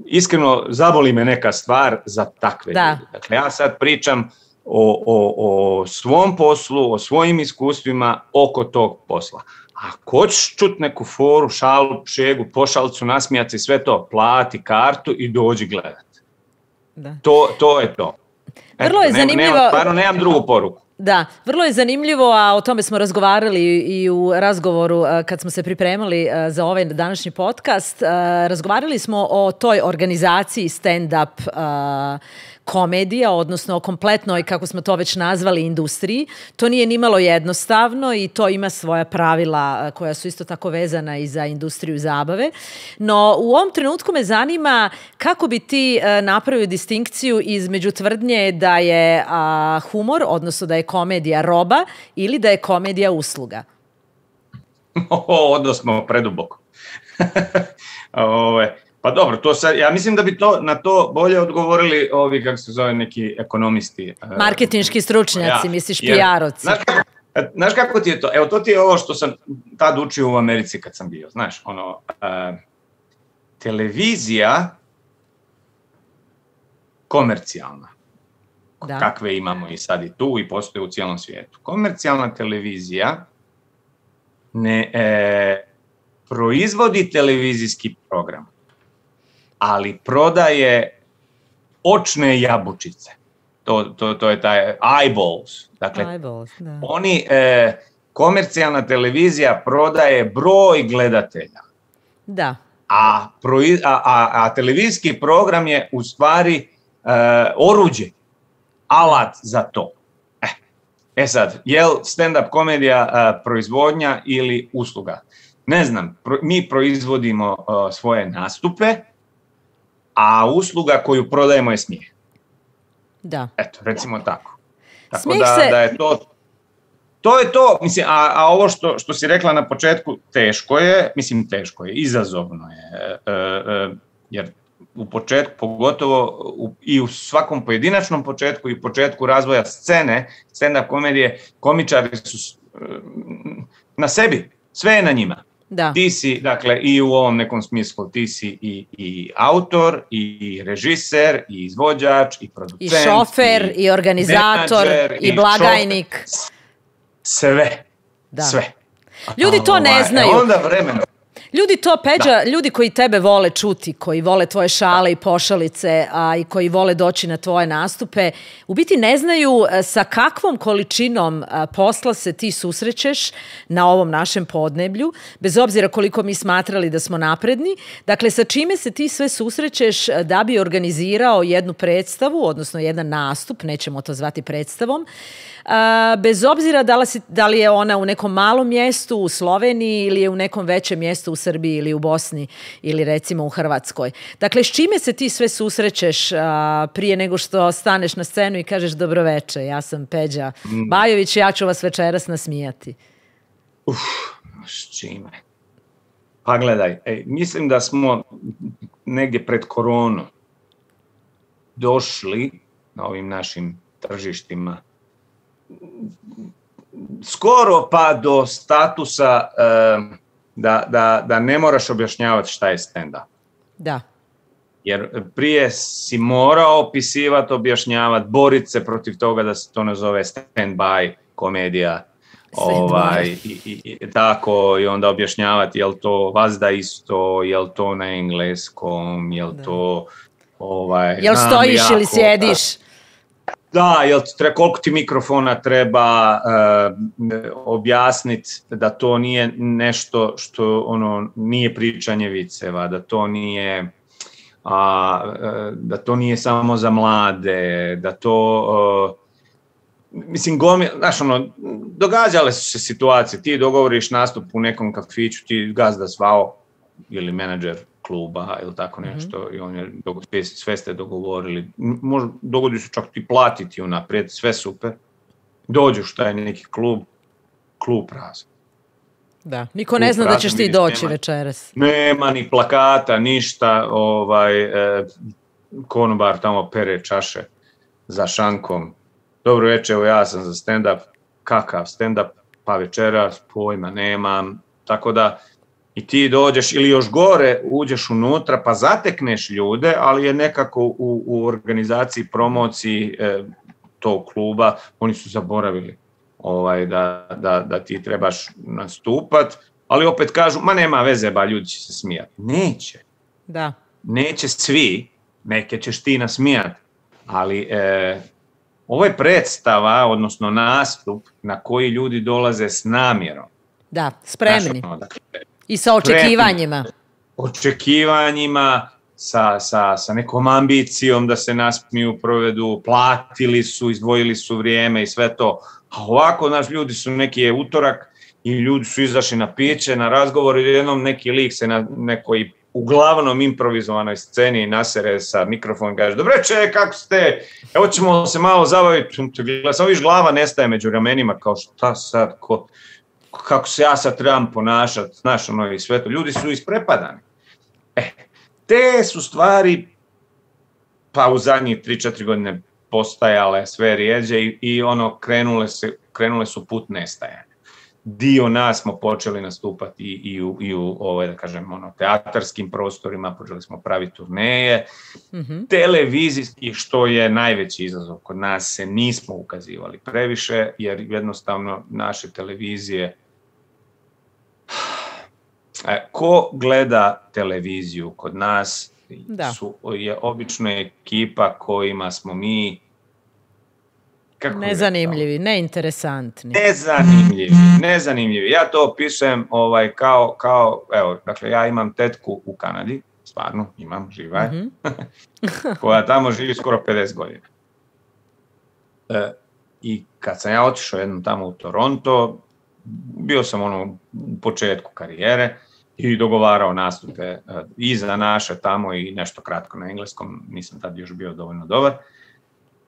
iskreno zaboli me neka stvar za takve da. ljudi. Dakle, ja sad pričam o, o, o svom poslu, o svojim iskustvima oko tog posla. Ako hoćeš čut neku foru, šalu, šegu, pošalcu, nasmijati, sve to, plati kartu i dođi gledati. Da. To, to je to. Vrlo je zanimljivo. Nemam, stvarno nemam drugu poruku. Da, vrlo je zanimljivo, a o tome smo razgovarali i u razgovoru kad smo se pripremali za ovaj današnji podcast. Razgovarali smo o toj organizaciji stand-up komedija, odnosno o kompletnoj, kako smo to već nazvali, industriji. To nije nimalo jednostavno i to ima svoja pravila koja su isto tako vezana i za industriju zabave. No, u ovom trenutku me zanima kako bi ti napravio distinkciju između tvrdnje da je a, humor, odnosno da je komedija roba ili da je komedija usluga? O, odnosno preduboko. Ove... Pa dobro, to sad, ja mislim da bi to na to bolje odgovorili ovi, kako se zove, neki ekonomisti. Marketinški stručnjaci, ja, misliš P R-ovci. Znaš kako, znaš kako ti je to? Evo, to ti je ovo što sam tad učio u Americi kad sam bio. Znaš, ono, uh, televizija komercijalna, da. Kakve imamo i sad i tu i postoje u cijelom svijetu. Komercijalna televizija ne e, proizvodi televizijski program, ali prodaje očne jabučice. To, to, to je taj eyeballs. Dakle, eyeballs, da. Oni, e, komercijalna televizija prodaje broj gledatelja. Da. A, proiz, a, a, a televizijski program je u stvari oruđe, alat za to. E, e sad, je li stand-up komedija uh, proizvodnja ili usluga? Ne znam, pro, mi proizvodimo uh, svoje nastupe, a usluga koju prodajemo je smijeh. Da. Eto, recimo tako. Tako Smijeh da, se... da je to... To je to, mislim, a, a ovo što, što si rekla na početku, teško je, mislim teško je, izazovno je, e, e, jer u početku, pogotovo u, i u svakom pojedinačnom početku i početku razvoja scene, stand-up komedije, komičari su e, na sebi, sve je na njima. Da. Ti si, dakle, i u ovom nekom smislu, ti si i, i autor, i režiser, i izvođač, i producent. I šofer, i, i organizator, menadžer, i blagajnik. Šofer. Sve, da. Sve. Ljudi to ne znaju. E onda vremeno. Ljudi to, Peđa, da. Ljudi koji tebe vole čuti, koji vole tvoje šale i pošalice, a i koji vole doći na tvoje nastupe, u biti ne znaju sa kakvom količinom posla se ti susrećeš na ovom našem podneblju, bez obzira koliko mi smatrali da smo napredni. Dakle, sa čime se ti sve susrećeš da bi organizirao jednu predstavu, odnosno jedan nastup, nećemo to zvati predstavom, bez obzira da li, si, da li je ona u nekom malom mjestu u Sloveniji ili je u nekom većem mjestu u Srbiji ili u Bosni ili recimo u Hrvatskoj. Dakle, s čime se ti sve susrećeš a, prije nego što staneš na scenu i kažeš dobroveče, ja sam Peđa mm. Bajović, ja ću vas večeras nasmijati? Uf, s čime? Pa gledaj, ej, mislim da smo negdje pred koronu došli na ovim našim tržištima skoro pa do statusa uh, da, da, da ne moraš objašnjavati šta je stand-up. Da. Jer prije si morao opisivati, objašnjavati, boriti se protiv toga da se to ne zove stand-by komedija. Ovaj, i, i, i, tako, i onda objašnjavati je li to vazda isto, je li to na engleskom, je li da. To... Ovaj, je li stojiš jako, ili sjediš? Da, Da, jel treba, koliko ti mikrofona treba uh, objasniti da to nije nešto što ono nije pričanje viceva, da to nije a, uh, da to nije samo za mlade, da to uh, mislim gomi, znaš ono, događale su se situacije, ti dogovoriš nastup u nekom kafiću, ti gazda zvao ili menadžer kluba ili tako nešto mm-hmm. i on je, sve ste dogovorili, možda dogodi se čak ti platiti unaprijed, sve super, dođeš taj neki klub, klub prazan. Da, niko ne zna da ćeš ti doći nema, večeras. Nema ni plakata, ništa, ovaj, eh, konobar tamo pere čaše za šankom. Dobro večer, evo ja sam za stand-up, kakav stand-up, pa večeras, pojma nemam, tako da i ti dođeš ili još gore, uđeš unutra pa zatekneš ljude, ali je nekako u, u organizaciji, promociji e, tog kluba, oni su zaboravili ovaj, da, da, da ti trebaš nastupat, ali opet kažu, ma nema veze, ba ljudi će se smijati. Neće. Da. Neće svi, neke ćeš ti nasmijati, ali e, ovo je predstava, odnosno nastup na koji ljudi dolaze s namjerom. Da, spremni. Znaš, dakle, i sa očekivanjima. Očekivanjima, sa, sa, sa nekom ambicijom da se nasmiju, provedu, platili su, izdvojili su vrijeme i sve to. A ovako, naš ljudi su neki je utorak i ljudi su izašli na piće, na razgovor i jednom neki lik se na nekoj uglavnom improvizovanoj sceni nasere sa mikrofonom i kaže, dobreče, kako ste? Evo ćemo se malo zabaviti. Samo viš glava nestaje među ramenima kao šta sad, ko... kako se ja sad trebam ponašati, znaš, ono i sve to. Ljudi su isprepadani. E, te su stvari, pa u zadnjih tri četiri godine postajale sve rijeđe i, i ono, krenule, se, krenule su put nestajanja. Dio nas smo počeli nastupati i, i u, i u ove, da kažem, ono, teatarskim prostorima, počeli smo praviti turneje, mm-hmm. televizijski, što je najveći izazov kod nas, se nismo ukazivali previše, jer jednostavno naše televizije, ko gleda televiziju kod nas su, je obično ekipa kojima smo mi Kako nezanimljivi, neinteresantni. Nezanimljivi, nezanimljivi. Ja to opisujem ovaj, kao, kao, evo, dakle, ja imam tetku u Kanadi, stvarno imam, živa je, mm-hmm. koja tamo živi skoro pedeset godina. E, I kad sam ja otišao jednom tamo u Toronto, bio sam ono u početku karijere i dogovarao nastupe uh, i za naše tamo i nešto kratko na engleskom, nisam tad još bio dovoljno dobar.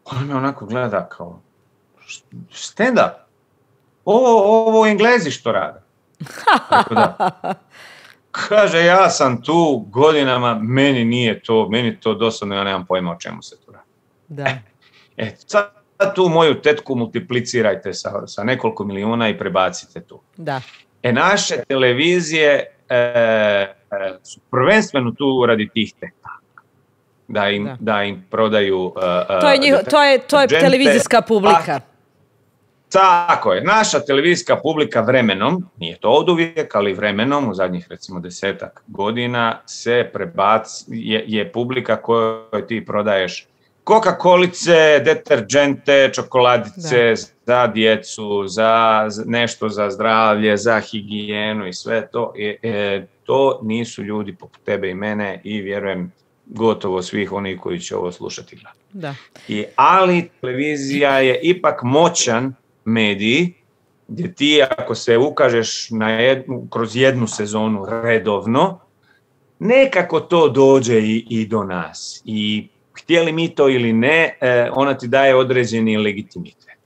On me onako gleda kao, stand up, ovo, ovo Englezi što rade. Tako da, kaže, ja sam tu godinama, meni nije to, meni to dosadno, ja nemam pojma o čemu se tu radi. Da. E, e sad tu moju tetku multiplicirajte sa, sa nekoliko milijuna i prebacite tu. Da. E, naše televizije e, e, su prvenstveno tu radi tih tetaka. Da im, da. Da im prodaju... Uh, to je, njiho, to je, to je televizijska publika. A, tako je. Naša televizijska publika vremenom, nije to oduvijek, ali vremenom, u zadnjih recimo desetak godina, se prebaci, je, je publika kojoj ti prodaješ Coca-Colice, deterđente, čokoladice da. Za djecu, za nešto za zdravlje, za higijenu i sve to. E, e, to nisu ljudi poput tebe i mene i vjerujem gotovo svih onih koji će ovo slušati. Da. I, ali televizija je ipak moćan medij gdje ti ako se ukažeš na jednu, kroz jednu sezonu redovno, nekako to dođe i, i do nas. I htjeli mi to ili ne, ona ti daje određeni legitimitet.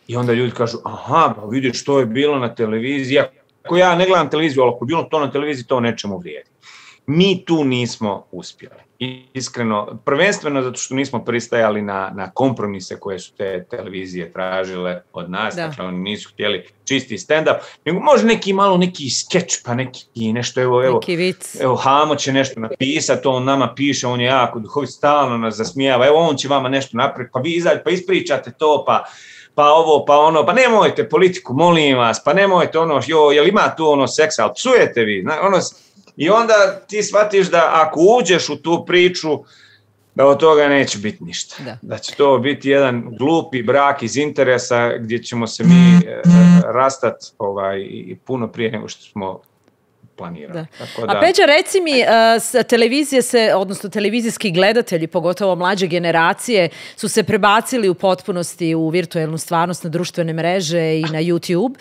I onda ljudi kažu, aha, pa vidiš što je bilo na televiziji. Ako ja ne gledam televiziju, ali ako je bilo to na televiziji, to nečemu vrijedi. Mi tu nismo uspjeli. Iskreno, prvenstveno zato što nismo pristajali na, na kompromise koje su te televizije tražile od nas. Da. Dakle, oni nisu htjeli čisti stand-up, nego može neki malo neki skeč, pa neki nešto, evo, evo, neki vic. Evo, Hamo će nešto napisati, on nama piše, on je jako duhovit, stalno nas zasmijava, evo, on će vama nešto napraviti, pa vi izađete, pa ispričate to, pa pa ovo, pa ono, pa nemojte politiku, molim vas, pa nemojte ono, jo, jel ima tu ono seksa, ali psujete vi, ono. I onda ti shvatiš da ako uđeš u tu priču, da od toga neće biti ništa. Da, da će to biti jedan glupi brak iz interesa gdje ćemo se mi e, rastati ovaj, i puno prije nego što smo planirali. Da. Tako da... A Peđa, reci mi, uh, televizije se, odnosno televizijski gledatelji, pogotovo mlađe generacije, su se prebacili u potpunosti u virtualnu stvarnost na društvene mreže i na YouTube.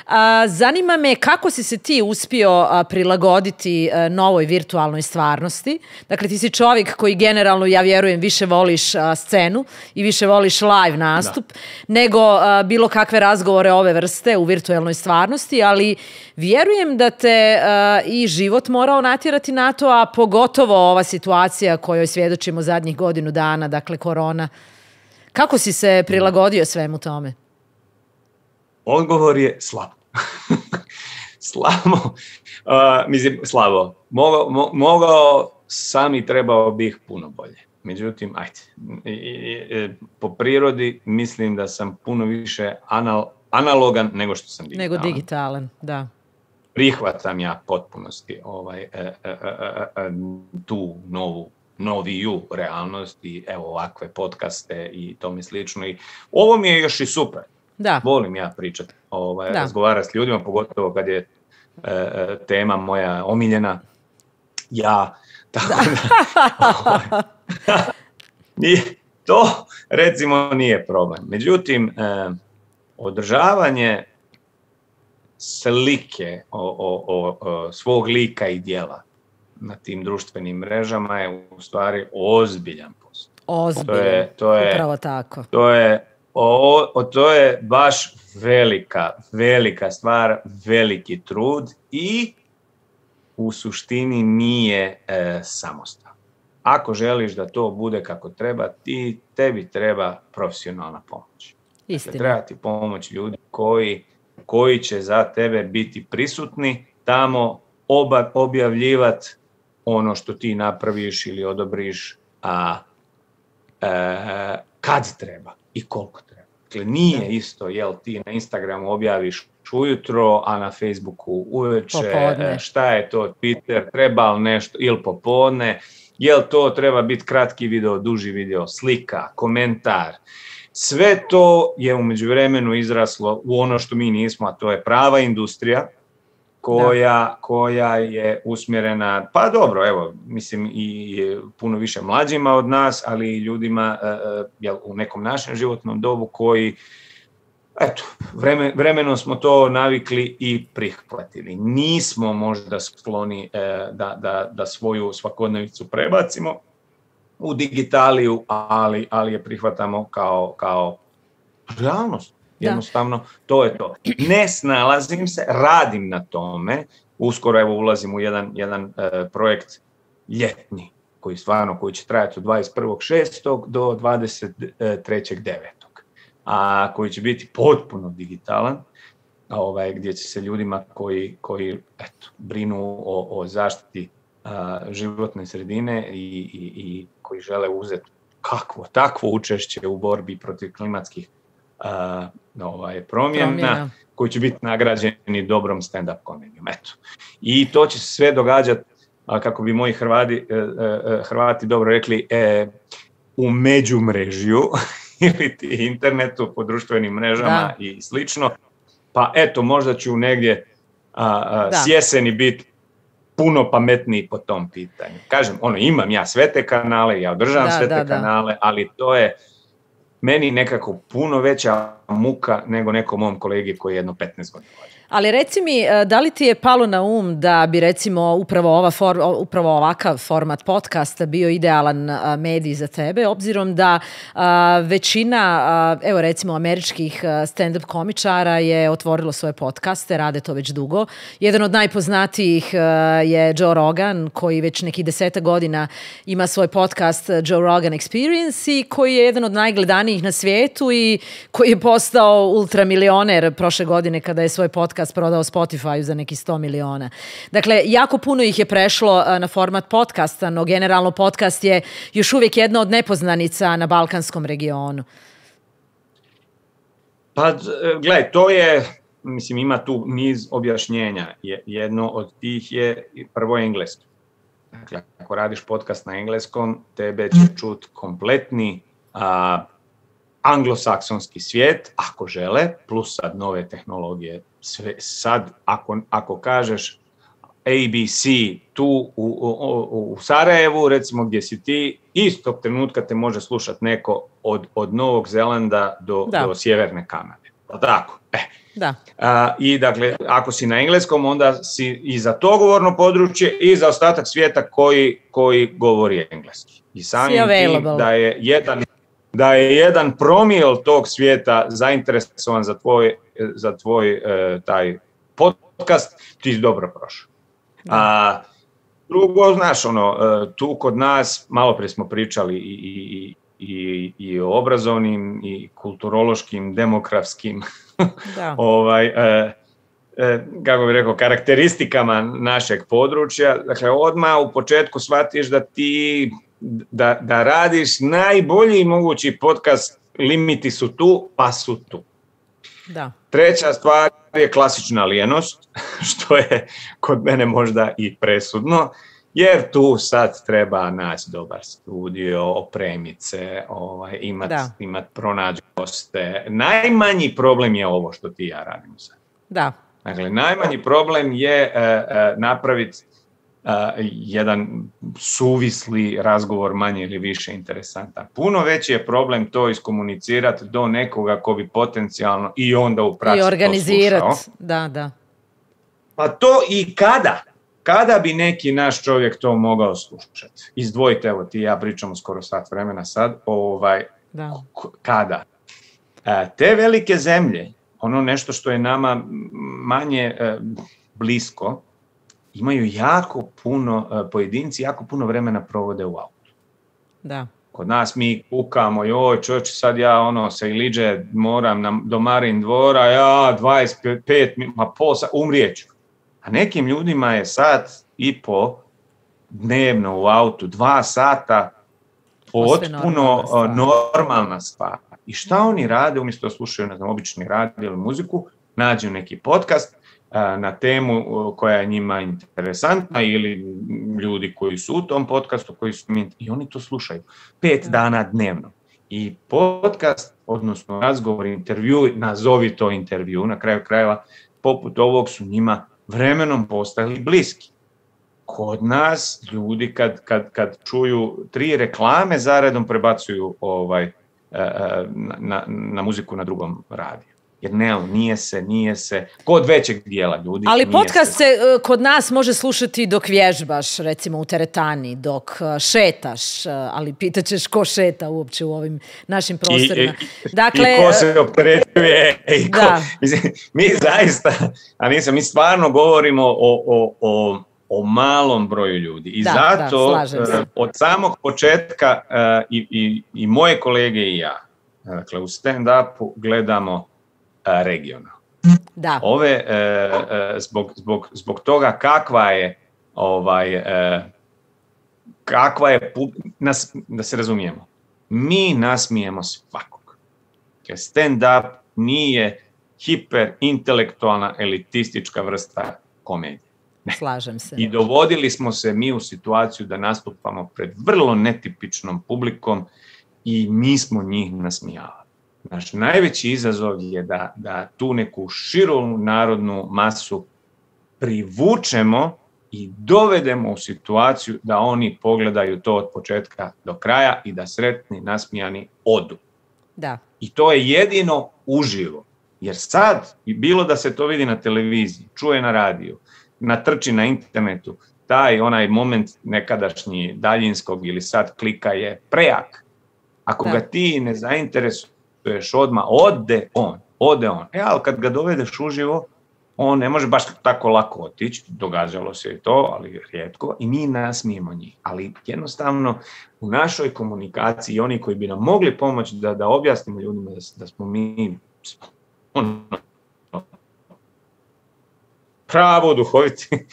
A, zanima me kako si se ti uspio a, prilagoditi a, novoj virtualnoj stvarnosti. Dakle, ti si čovjek koji generalno, ja vjerujem, više voliš a, scenu i više voliš live nastup da. nego a, bilo kakve razgovore ove vrste u virtualnoj stvarnosti, ali vjerujem da te a, i život morao natjerati na to, a pogotovo ova situacija kojoj svjedočimo zadnjih godinu dana, dakle korona. Kako si se prilagodio svemu tome? Odgovor je slabo. slabo. Uh, mislim, slabo. Mogao, mo, mogao sam i trebao bih puno bolje. Međutim, ajde. I, i, po prirodi mislim da sam puno više anal, analogan nego što sam digitalan. Nego digitalan, da. Prihvatam ja potpunosti ovaj, e, e, e, e, tu novu noviju realnost i evo ovakve podcaste i tome slično. I ovo mi je još i super. Da. Volim ja pričati, ovaj, razgovarati s ljudima, pogotovo kad je e, tema moja omiljena, ja, tako da, da i to recimo nije problem. Međutim, e, održavanje slike o, o, o, o svog lika i djela na tim društvenim mrežama je u stvari ozbiljan posao. Ozbiljan, to je, to je, upravo tako. To je O, o, to je baš velika, velika stvar, veliki trud i u suštini nije e, samostalno. Ako želiš da to bude kako treba, ti, tebi treba profesionalna pomoć. Istina. Treba ti pomoć ljudi koji, koji će za tebe biti prisutni, tamo oba, objavljivati ono što ti napraviš ili odobriš, a e, kad treba i koliko treba. Dakle, nije isto jel ti na Instagramu objaviš ujutro, a na Facebooku uveče, popodne. Šta je to Twitter, treba li nešto, ili popodne, jel to treba biti kratki video, duži video, slika, komentar. Sve to je u međuvremenu izraslo u ono što mi nismo, a to je prava industrija, koja, koja je usmjerena, pa dobro, evo, mislim i puno više mlađima od nas, ali i ljudima uh, jel, u nekom našem životnom dobu koji, eto, vremen, vremenom smo to navikli i prihvatili. Nismo možda skloni uh, da, da, da svoju svakodnevicu prebacimo u digitaliju, ali, ali je prihvatamo kao, kao realnost. Jednostavno, da. To je to. Ne snalazim se, radim na tome. Uskoro evo ulazim u jedan, jedan uh, projekt ljetni, koji stvarno koji će trajati od dvadeset prvog šestog do dvadeset trećeg devetog A koji će biti potpuno digitalan, a ovaj, gdje će se ljudima koji, koji eto, brinu o, o zaštiti uh, životne sredine i, i, i koji žele uzeti kakvo, takvo učešće u borbi protiv klimatskih Uh, ovaj, promjena, promjena, koji će biti nagrađeni dobrom stand-up komedijom. Eto. I to će se sve događati, kako bi moji Hrvati, uh, Hrvati dobro rekli, uh, u međumrežju ili ti internetu, po društvenim mrežama da. I slično. Pa eto, možda ću negdje uh, uh, s jeseni biti puno pametniji po tom pitanju. Kažem, ono, imam ja sve te kanale, ja održavam da, sve te da, kanale, da. Ali to je meni nekako puno veća muka nego nekom mom kolegi koji je jedno petnaest godina. Ali reci mi, da li ti je palo na um da bi recimo upravo, ova for, upravo ovakav format podcasta bio idealan medij za tebe, obzirom da a, većina, a, evo recimo američkih stand-up komičara je otvorilo svoje podcaste, rade to već dugo. Jedan od najpoznatijih a, je Joe Rogan, koji već nekih deseta godina ima svoj podcast Joe Rogan Experience i koji je jedan od najgledanijih na svijetu i koji je postao ultramilioner prošle godine kada je svoj podcast prodao Spotify za neki sto miliona. Dakle, jako puno ih je prešlo na format podcasta, no generalno podcast je još uvijek jedna od nepoznanica na balkanskom regionu. Pa, gledaj, to je, mislim, ima tu niz objašnjenja. Jedno od tih je prvo engleski. Dakle, ako radiš podcast na engleskom, tebe će čut kompletni a, anglosaksonski svijet, ako žele, plus sad nove tehnologije. Sve, sad, ako, ako kažeš A B C tu u, u, u Sarajevu, recimo gdje si ti, istog trenutka te može slušati neko od, od Novog Zelanda do, do Sjeverne Kanade. Tako, e. Da. A, I dakle, ako si na engleskom, onda si i za to govorno područje i za ostatak svijeta koji, koji govori engleski. I samim tim da je jedan... da je jedan promil tog svijeta zainteresovan za tvoj, za tvoj e, taj podcast, ti si dobro prošao. A drugo, znaš, ono, e, tu kod nas, malo prije smo pričali i, i, i, i o obrazovnim i kulturološkim, demografskim ovaj, e, e, kako bih rekao, karakteristikama našeg područja. Dakle, odmah u početku shvatiš da ti Da, da radiš najbolji mogući podcast, limiti su tu, pa su tu. Da. Treća stvar je klasična lijenost, što je kod mene možda i presudno, jer tu sad treba naći dobar studio, opremiti se, ovaj, imati imat pronaći goste. Najmanji problem je ovo što ti i ja radimo sad. Da. Dakle, najmanji problem je uh, uh, napraviti Uh, jedan suvisli razgovor, manje ili više interesantan. Puno veći je problem to iskomunicirati do nekoga ko bi potencijalno i onda u praksi to slušao. I organizirati, da, da. Pa to i kada? Kada bi neki naš čovjek to mogao slušati? Izdvojite, evo ti i ja pričamo skoro sat vremena sad, ovaj, da. Kada? Uh, te velike zemlje, ono nešto što je nama manje uh, blisko, imaju jako puno, pojedinci jako puno vremena provode u autu. Da. Kod nas mi kukamo, joj čovječe, sad ja ono sa Iliđe moram na, do Marin dvora, ja dvadeset pet, ma pol sat, umrijeću. A nekim ljudima je sat i po dnevno u autu, dva sata, potpuno normalna stvar. I šta oni rade, umjesto da slušaju, ne znam, obični radio ili muziku, nađu neki podcast na temu koja je njima interesantna ili ljudi koji su u tom podcastu koji su i oni to slušaju pet dana dnevno. I podcast, odnosno razgovor, intervju, nazovi to intervju, na kraju krajeva, poput ovog su njima vremenom postali bliski. Kod nas ljudi kad, kad, kad čuju tri reklame zaredom prebacuju ovaj, na, na, na muziku na drugom radiju. Jer ne, nije se, nije se, kod većeg dijela ljudi. Ali podcast se kod nas može slušati dok vježbaš, recimo u teretani, dok šetaš, ali pitaćeš ko šeta uopće u ovim našim prostorima. I, i, dakle, i ko se opterećuje. I ko, mislim, mi zaista, a nisam, mi stvarno govorimo o, o, o, o malom broju ljudi. I da, zato da, od samog početka i, i, i moje kolege i ja, dakle u stand-upu gledamo regionalno. Da. Ove, e, e, zbog, zbog, zbog toga kakva je, ovaj, e, kakva je, nas, da se razumijemo, mi nasmijemo svakog. Stand-up nije hiperintelektualna elitistička vrsta komedije. Ne. Slažem se. I dovodili smo se mi u situaciju da nastupamo pred vrlo netipičnom publikom i mi smo njih nasmijavali. Naš najveći izazov je da, da tu neku širu narodnu masu privučemo i dovedemo u situaciju da oni pogledaju to od početka do kraja i da sretni, nasmijani odu. Da. I to je jedino uživo. Jer sad, bilo da se to vidi na televiziji, čuje na radiju, natrči na internetu, taj onaj moment nekadašnji daljinskog ili sad klika je prejak. Ako da. ga ti ne zainteresuješ odmah, ode on, ode on. E, ali kad ga dovedeš uživo, on ne može baš tako lako otići, događalo se i to, ali rijetko, i mi nasmijemo njih. Ali jednostavno u našoj komunikaciji oni koji bi nam mogli pomoći da, da objasnimo ljudima da, da smo mi ono, pravo duhoviti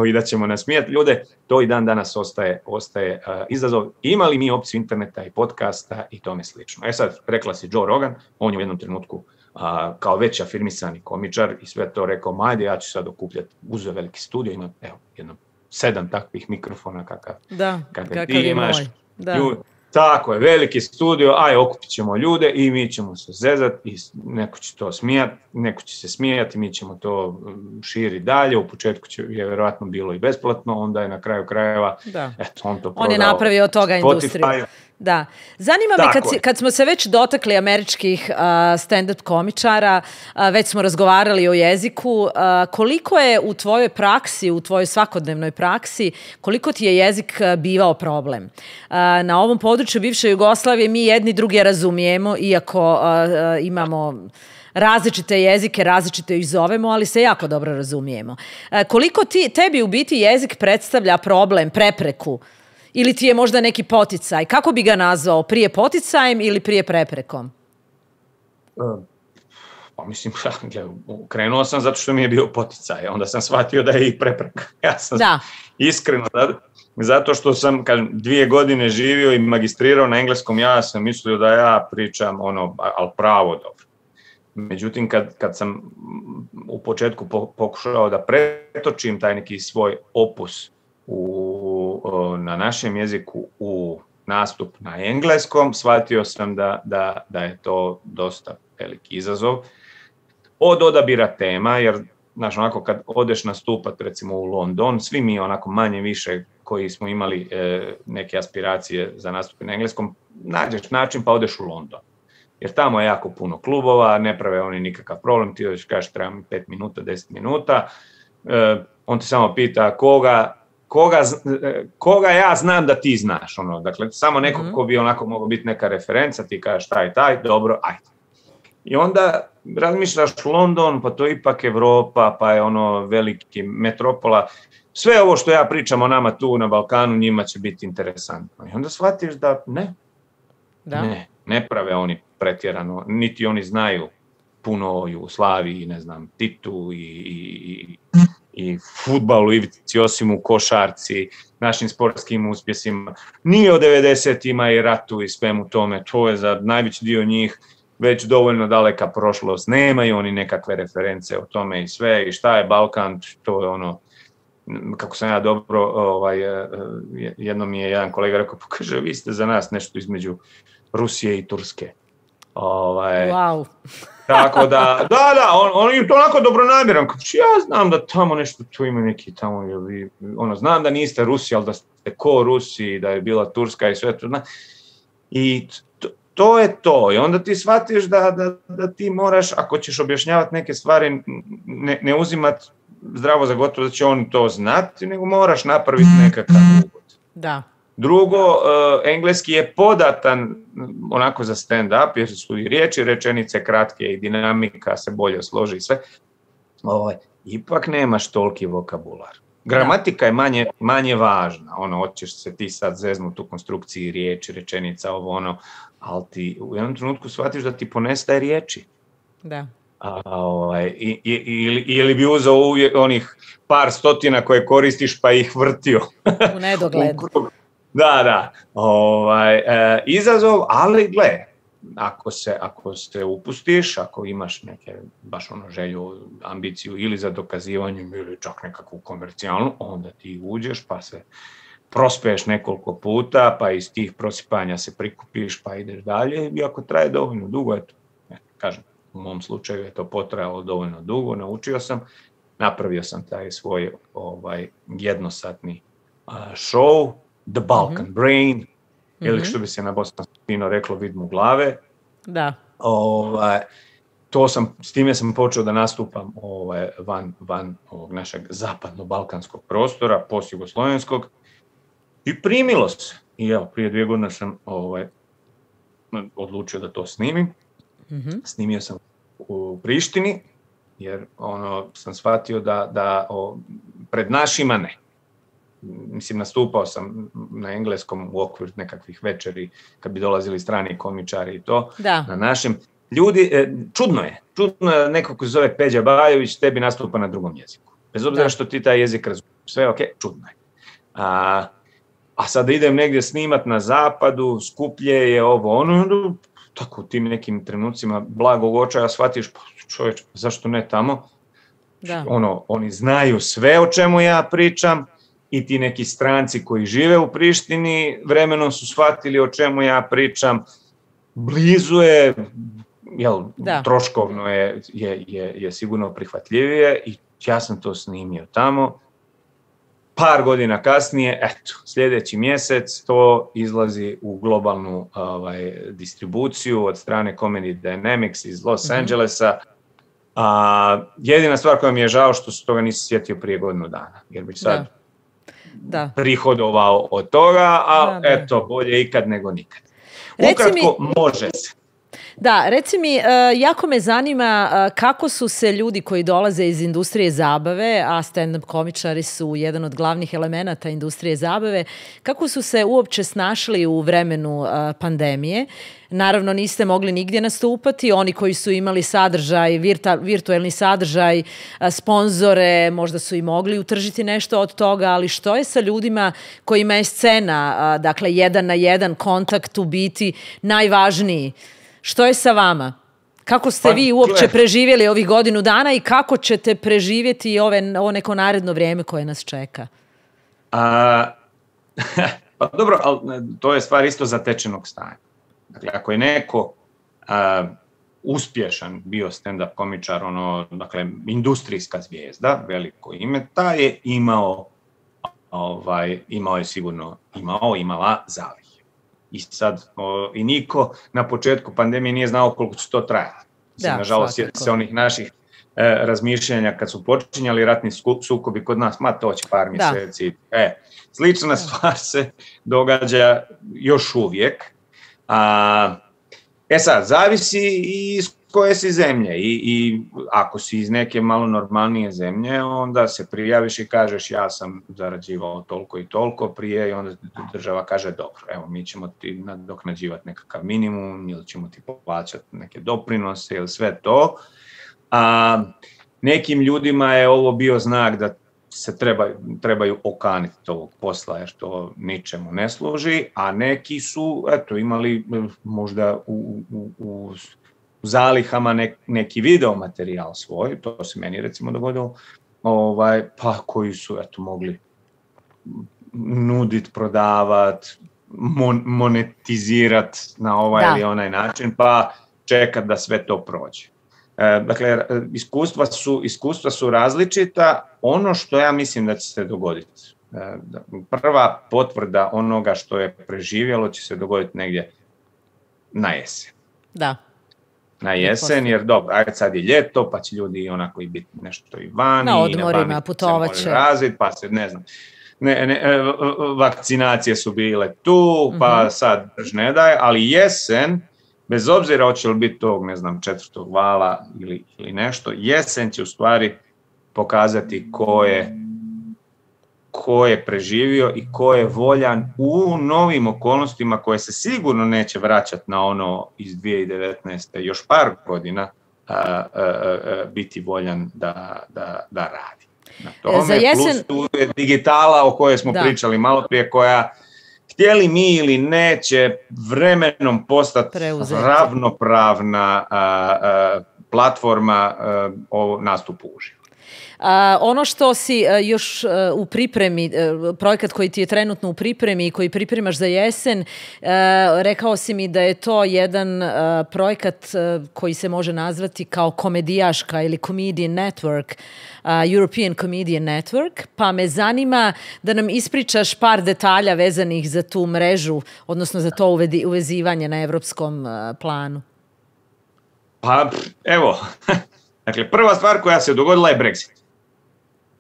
i da ćemo nasmijati ljude, to i dan danas ostaje, ostaje uh, izazov. Imali mi opciju interneta i podcasta i tome slično. E sad, rekla si Joe Rogan, on je u jednom trenutku uh, kao već afirmisani komičar i sve to rekao, majde, ja ću sad okupljati, uzeo veliki studio, ima evo, jedno sedam takvih mikrofona kakav, da, kakav, kakav ti je imaš. moj. Da. Ljud, tako je, veliki studio, aj okupit ćemo ljude i mi ćemo se zezati i neko će to smijati, neko će se smijati, mi ćemo to širiti dalje, u početku će, je vjerojatno bilo i besplatno, onda je na kraju krajeva, da. eto, on to prodao. On je napravio od toga industriju. Da. Zanima me, kad, si, kad smo se već dotakli američkih uh, stand-up komičara, uh, već smo razgovarali o jeziku, uh, koliko je u tvojoj praksi, u tvojoj svakodnevnoj praksi, koliko ti je jezik bivao problem? Uh, na ovom području bivše Jugoslavije mi jedni druge razumijemo, iako uh, uh, imamo različite jezike, različite ih zovemo, ali se jako dobro razumijemo. Uh, koliko ti, tebi u biti jezik predstavlja problem, prepreku? Ili ti je možda neki poticaj? Kako bi ga nazvao? Prije poticajem ili prije preprekom? Pa mislim, krenuo sam zato što mi je bio poticaj. Onda sam shvatio da je i prepreka. Ja sam da. iskreno, zato što sam kažem, dvije godine živio i magistrirao na engleskom, ja sam mislio da ja pričam ono, ali pravo dobro. Međutim, kad, kad sam u početku pokušao da pretočim taj neki svoj opus U, na našem jeziku u nastup na engleskom, shvatio sam da, da, da je to dosta veliki izazov. Od odabira tema, jer znaš, onako kad odeš nastupat recimo u London, svi mi onako manje više koji smo imali e, neke aspiracije za nastup na engleskom, nađeš način pa odeš u London. Jer tamo je jako puno klubova, ne prave oni nikakav problem, ti odeš kažeš treba mi pet minuta, deset minuta, e, on ti samo pita koga Koga, koga ja znam da ti znaš, ono, dakle, samo neko ko bi onako mogao biti neka referenca, ti kažeš taj, taj, dobro, ajde. I onda razmišljaš London, pa to je ipak Evropa, pa je ono veliki metropola, sve ovo što ja pričam o nama tu na Balkanu, njima će biti interesantno. I onda shvatiš da ne, da. ne, ne prave oni pretjerano, niti oni znaju puno o Jugoslaviji, ne znam, Titu i, i, i fudbalu, Ivici Josimu, košarci, našim sportskim uspjesima. Nije o devedesetima i ratu i svemu tome, to je za najveći dio njih već dovoljno daleka prošlost. Nemaju oni nekakve reference o tome i sve, i šta je Balkan, to je ono, kako sam ja dobro, ovaj, jednom mi je jedan kolega rekao, pokaže, vi ste za nas nešto između Rusije i Turske. Ovaj, wow. Tako da, da, da, on, on je to onako dobronamjeran. Ja znam da tamo nešto, tu ima neki tamo, vi, ono, znam da niste Rusi, ali da ste ko Rusi, da je bila Turska i sve to. Zna. I to, to je to. I onda ti shvatiš da, da, da ti moraš, ako ćeš objašnjavati neke stvari, ne, ne uzimati zdravo za gotovo da će on to znati, nego moraš napraviti nekakav uvod. Da. Drugo, uh, engleski je podatan onako za stand-up, jer su i riječi, rečenice kratke i dinamika se bolje složi i sve. Ovaj, ipak nemaš toliki vokabular. Gramatika je manje, manje važna. Ono, hoćeš se ti sad zeznuti u konstrukciji riječi, rečenica, ovo ono, ali ti u jednom trenutku shvatiš da ti ponestaje riječi. Da. A, ovaj, i, i, ili, ili bi uzeo uvijek onih par stotina koje koristiš pa ih vrtio. U nedogled. Da, da, ovaj, e, izazov, ali gle, ako se, ako se upustiš, ako imaš neke, baš ono želju, ambiciju ili za dokazivanjem ili čak nekakvu komercijalnu, onda ti uđeš pa se prospeješ nekoliko puta, pa iz tih prosipanja se prikupiš pa ideš dalje i ako traje dovoljno dugo, eto, kažem, u mom slučaju je to potrajalo dovoljno dugo, naučio sam, napravio sam taj svoj ovaj, jednosatni uh, show, The Balkan mm-hmm. Brain, mm-hmm. ili što bi se na bosanskino reklo vid mu glave. Da. Ovaj, to sam, s time sam počeo da nastupam ovaj, van, van ovog našeg zapadno-balkanskog prostora, post-jugoslovenskog, i primilo se. I evo, prije dvije godine sam ovaj, odlučio da to snimim. Mm-hmm. Snimio sam u Prištini, jer ono, sam shvatio da, da o, pred našima ne. Mislim, nastupao sam na engleskom u okviru nekakvih večeri kad bi dolazili strani komičari i to. Da. Na našem. Ljudi, čudno je. Čudno je neko ko se zove Peđa Bajović, tebi nastupa na drugom jeziku. Bez obzira što ti taj jezik razumiješ. Sve ok, čudno je. A, a sad idem negdje snimat na zapadu, skuplje je ovo, ono, tako u tim nekim trenucima blagog očaja shvatiš, pa čovječ, zašto ne tamo? Da. Ono, oni znaju sve o čemu ja pričam, i ti neki stranci koji žive u Prištini vremenom su shvatili o čemu ja pričam. Blizu je, jel, troškovno je, je, je, je sigurno prihvatljivije i ja sam to snimio tamo. Par godina kasnije, eto, sljedeći mjesec to izlazi u globalnu ovaj, distribuciju od strane Comedy Dynamics iz Los mm-hmm. Angelesa. A, jedina stvar koja mi je žao što se toga nisi sjetio prije godinu dana, jer bi sad da. Da. prihodovao od toga, ali eto, bolje ikad nego nikad. Ukratko, mi, može se. Da, reci mi, jako me zanima kako su se ljudi koji dolaze iz industrije zabave, a stand-up komičari su jedan od glavnih elemenata industrije zabave, kako su se uopće snašli u vremenu pandemije? Naravno, niste mogli nigdje nastupati. Oni koji su imali sadržaj, virta, virtualni sadržaj, sponzore, možda su i mogli utržiti nešto od toga, ali što je sa ljudima kojima je scena, dakle, jedan na jedan kontakt u biti najvažniji? Što je sa vama? Kako ste pa, vi uopće preživjeli ovih godinu dana i kako ćete preživjeti ove, ovo neko naredno vrijeme koje nas čeka? A, pa dobro, ali to je stvar isto zatečenog stanja. Dakle, ako je neko a, uspješan bio stand-up komičar, ono, dakle, industrijska zvijezda, veliko ime, taj je imao, ovaj, imao je sigurno, imao, imala zalihe. I sad, o, i niko na početku pandemije nije znao koliko će to trajati. Da, nažalost, se onih naših e, razmišljanja kad su počinjali ratni sukobi kod nas, ma to će par mjeseci. E, slična stvar se događa još uvijek. A, e sad, zavisi i iz koje si zemlje i, i ako si iz neke malo normalnije zemlje, onda se prijaviš i kažeš ja sam zarađivao toliko i toliko prije i onda država kaže dobro, evo mi ćemo ti nadoknađivati nekakav minimum ili ćemo ti plaćati neke doprinose ili sve to. A, nekim ljudima je ovo bio znak da se treba, trebaju okaniti ovog posla jer to ničemu ne služi, a neki su eto, imali možda u, u, u u zalihama nek, neki video materijal svoj, to se meni recimo dogodilo, ovaj, pa koji su eto, mogli nudit, prodavat, mon, monetizirat na ovaj da. ili onaj način, pa čekati da sve to prođe. Dakle, iskustva su, iskustva su različita. Ono što ja mislim da će se dogoditi, prva potvrda onoga što je preživjelo će se dogoditi negdje na jesen. Da. Na jesen, jer dobro, ajde sad je ljeto, pa će ljudi onako i biti nešto i vani. Na odmorima, putovat će. Razvit, pa se, ne znam, ne, ne, vakcinacije su bile tu, pa mm-hmm. sad ne daje, ali jesen, bez obzira hoće li biti tog, ne znam, četvrtog vala ili, ili nešto, jesen će u stvari pokazati ko je, ko je preživio i ko je voljan u novim okolnostima koje se sigurno neće vraćati na ono iz dvije tisuće devetnaeste. još par godina a, a, a, biti voljan da, da, da radi. Na tome, Za jesen... plus tu je digitala o kojoj smo da. pričali malo prije, koja htjeli mi ili ne će vremenom postati Preuzeti. ravnopravna a, a, platforma a, o nastupu uživo. Uh, ono što si uh, još uh, u pripremi, uh, projekat koji ti je trenutno u pripremi i koji pripremaš za jesen, uh, rekao si mi da je to jedan uh, projekat uh, koji se može nazvati kao komedijaška ili Comedian Network, uh, European Comedian Network, pa me zanima da nam ispričaš par detalja vezanih za tu mrežu, odnosno za to uvedi, uvezivanje na evropskom uh, planu. Pa evo, dakle prva stvar koja se dogodila je Brexit.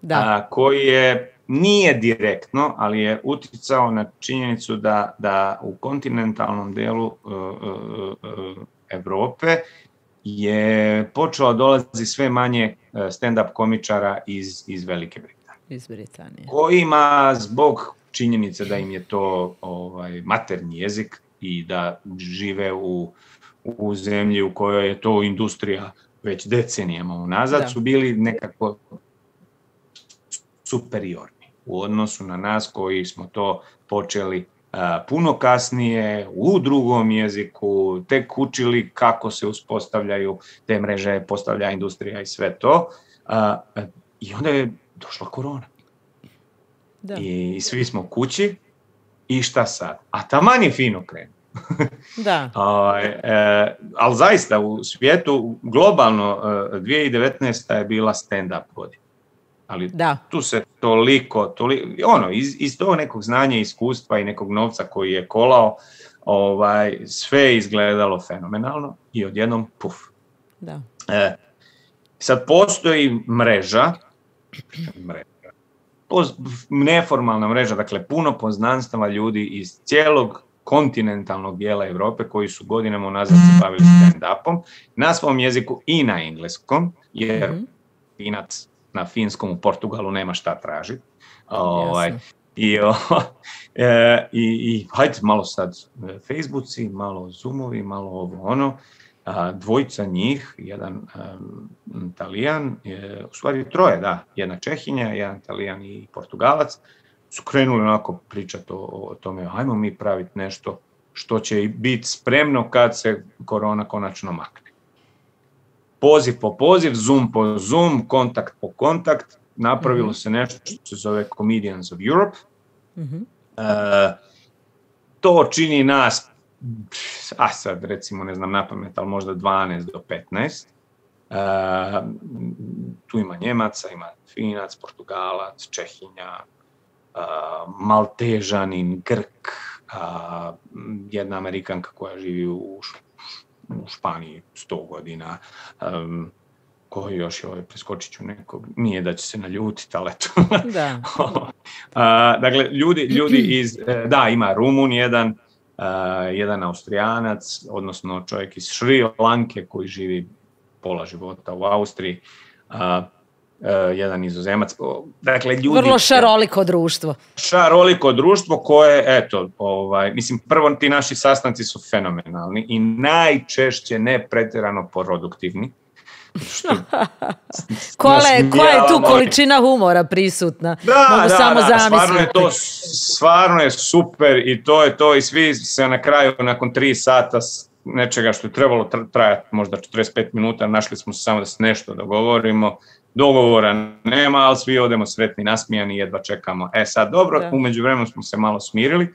Da. A, koji je, nije direktno, ali je utjecao na činjenicu da, da u kontinentalnom dijelu uh, uh, uh, Europe je počelo dolazi sve manje stand-up komičara iz, iz Velike Britanije. Iz Britanije. Kojima zbog činjenice da im je to ovaj, maternji jezik i da žive u, u zemlji u kojoj je to industrija već decenijama unazad, da. su bili nekako superiorni u odnosu na nas koji smo to počeli uh, puno kasnije, u drugom jeziku, tek učili kako se uspostavljaju te mreže, postavlja industrija i sve to. Uh, I onda je došla korona. Da. I, I svi smo kući i šta sad? A taman je fino krenuo. Da. uh, e, ali zaista u svijetu globalno uh, dvije tisuće devetnaesta je bila stand-up godina. Ali da. tu se toliko, toliko ono, iz, iz tog nekog znanja, iskustva i nekog novca koji je kolao, ovaj, sve je izgledalo fenomenalno i odjednom puf. Da. E, sad postoji mreža, mreža, poz, neformalna mreža, dakle puno poznanstava ljudi iz cijelog kontinentalnog dijela Europe koji su godinama unazad se bavili stand-upom na svom jeziku i na engleskom, jer mm-hmm. Finac na finskom u Portugalu nema šta tražiti. Ovaj, i, o, e, i, i hajde malo sad Facebooci, malo Zoomovi, malo ovo ono. A, dvojica njih, jedan um, Talijan, je, u stvari troje, da, jedna Čehinja, jedan Talijan i Portugalac, su krenuli onako pričati o, o tome, ajmo mi praviti nešto što će biti spremno kad se korona konačno makne. Poziv po poziv, Zoom po Zoom, kontakt po kontakt, napravilo mm-hmm. se nešto što se zove Comedians of Europe. Mm-hmm. E, to čini nas, a sad recimo ne znam napamet, ali možda dvanaest do petnaest. E, tu ima Njemaca, ima Finac, Portugalac, Čehinja, e, Maltežanin, Grk, a, jedna Amerikanka koja živi u u Španiji sto godina, um, koji još je ovaj, preskočit ću nekog, nije da će se naljutiti, ali eto. Da. uh, dakle, ljudi, ljudi iz, da, ima Rumun jedan, uh, jedan Austrijanac, odnosno čovjek iz Šri Lanke koji živi pola života u Austriji, uh, Uh, jedan Nizozemac. Dakle, ljudi... Vrlo šaroliko društvo. Šaroliko društvo koje, eto, ovaj, mislim, prvo ti naši sastanci su fenomenalni i najčešće ne pretjerano produktivni. Kole, koja je tu količina humora prisutna? Da, Mogu da, samo da, zamisliti. Stvarno je to, stvarno je super i to je to i svi se na kraju, nakon tri sata nečega što je trebalo trajati možda četrdeset pet minuta, našli smo se samo da se nešto dogovorimo. Dogovora nema, ali svi odemo sretni, nasmijani, jedva čekamo. E sad, dobro, da. U međuvremenu smo se malo smirili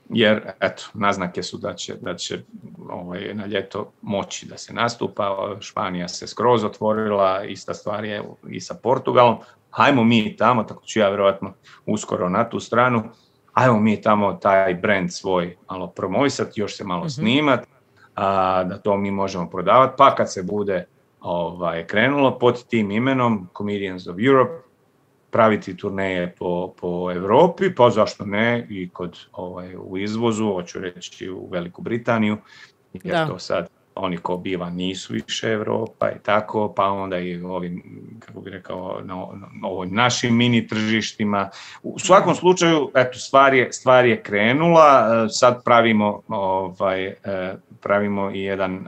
jer eto, naznake su da će, da će ovaj, na ljeto moći da se nastupa. Španija se skroz otvorila, ista stvar je i sa Portugalom. Hajmo mi tamo, tako ću ja vjerojatno uskoro na tu stranu, hajmo mi tamo taj brand svoj malo promovisati, još se malo mm-hmm. snimati, a, da to mi možemo prodavati, pa kad se bude ovaj, krenulo pod tim imenom Comedians of Europe, praviti turneje po, po Europi, pa zašto ne i kod ovaj, u izvozu, hoću reći u Veliku Britaniju, jer da. To sad oni ko biva nisu više Europa i tako, pa onda i ovim, kako bih rekao, na, na ovim našim mini tržištima. U svakom slučaju, eto, stvar je, stvar je krenula, sad pravimo, ovaj, pravimo i jedan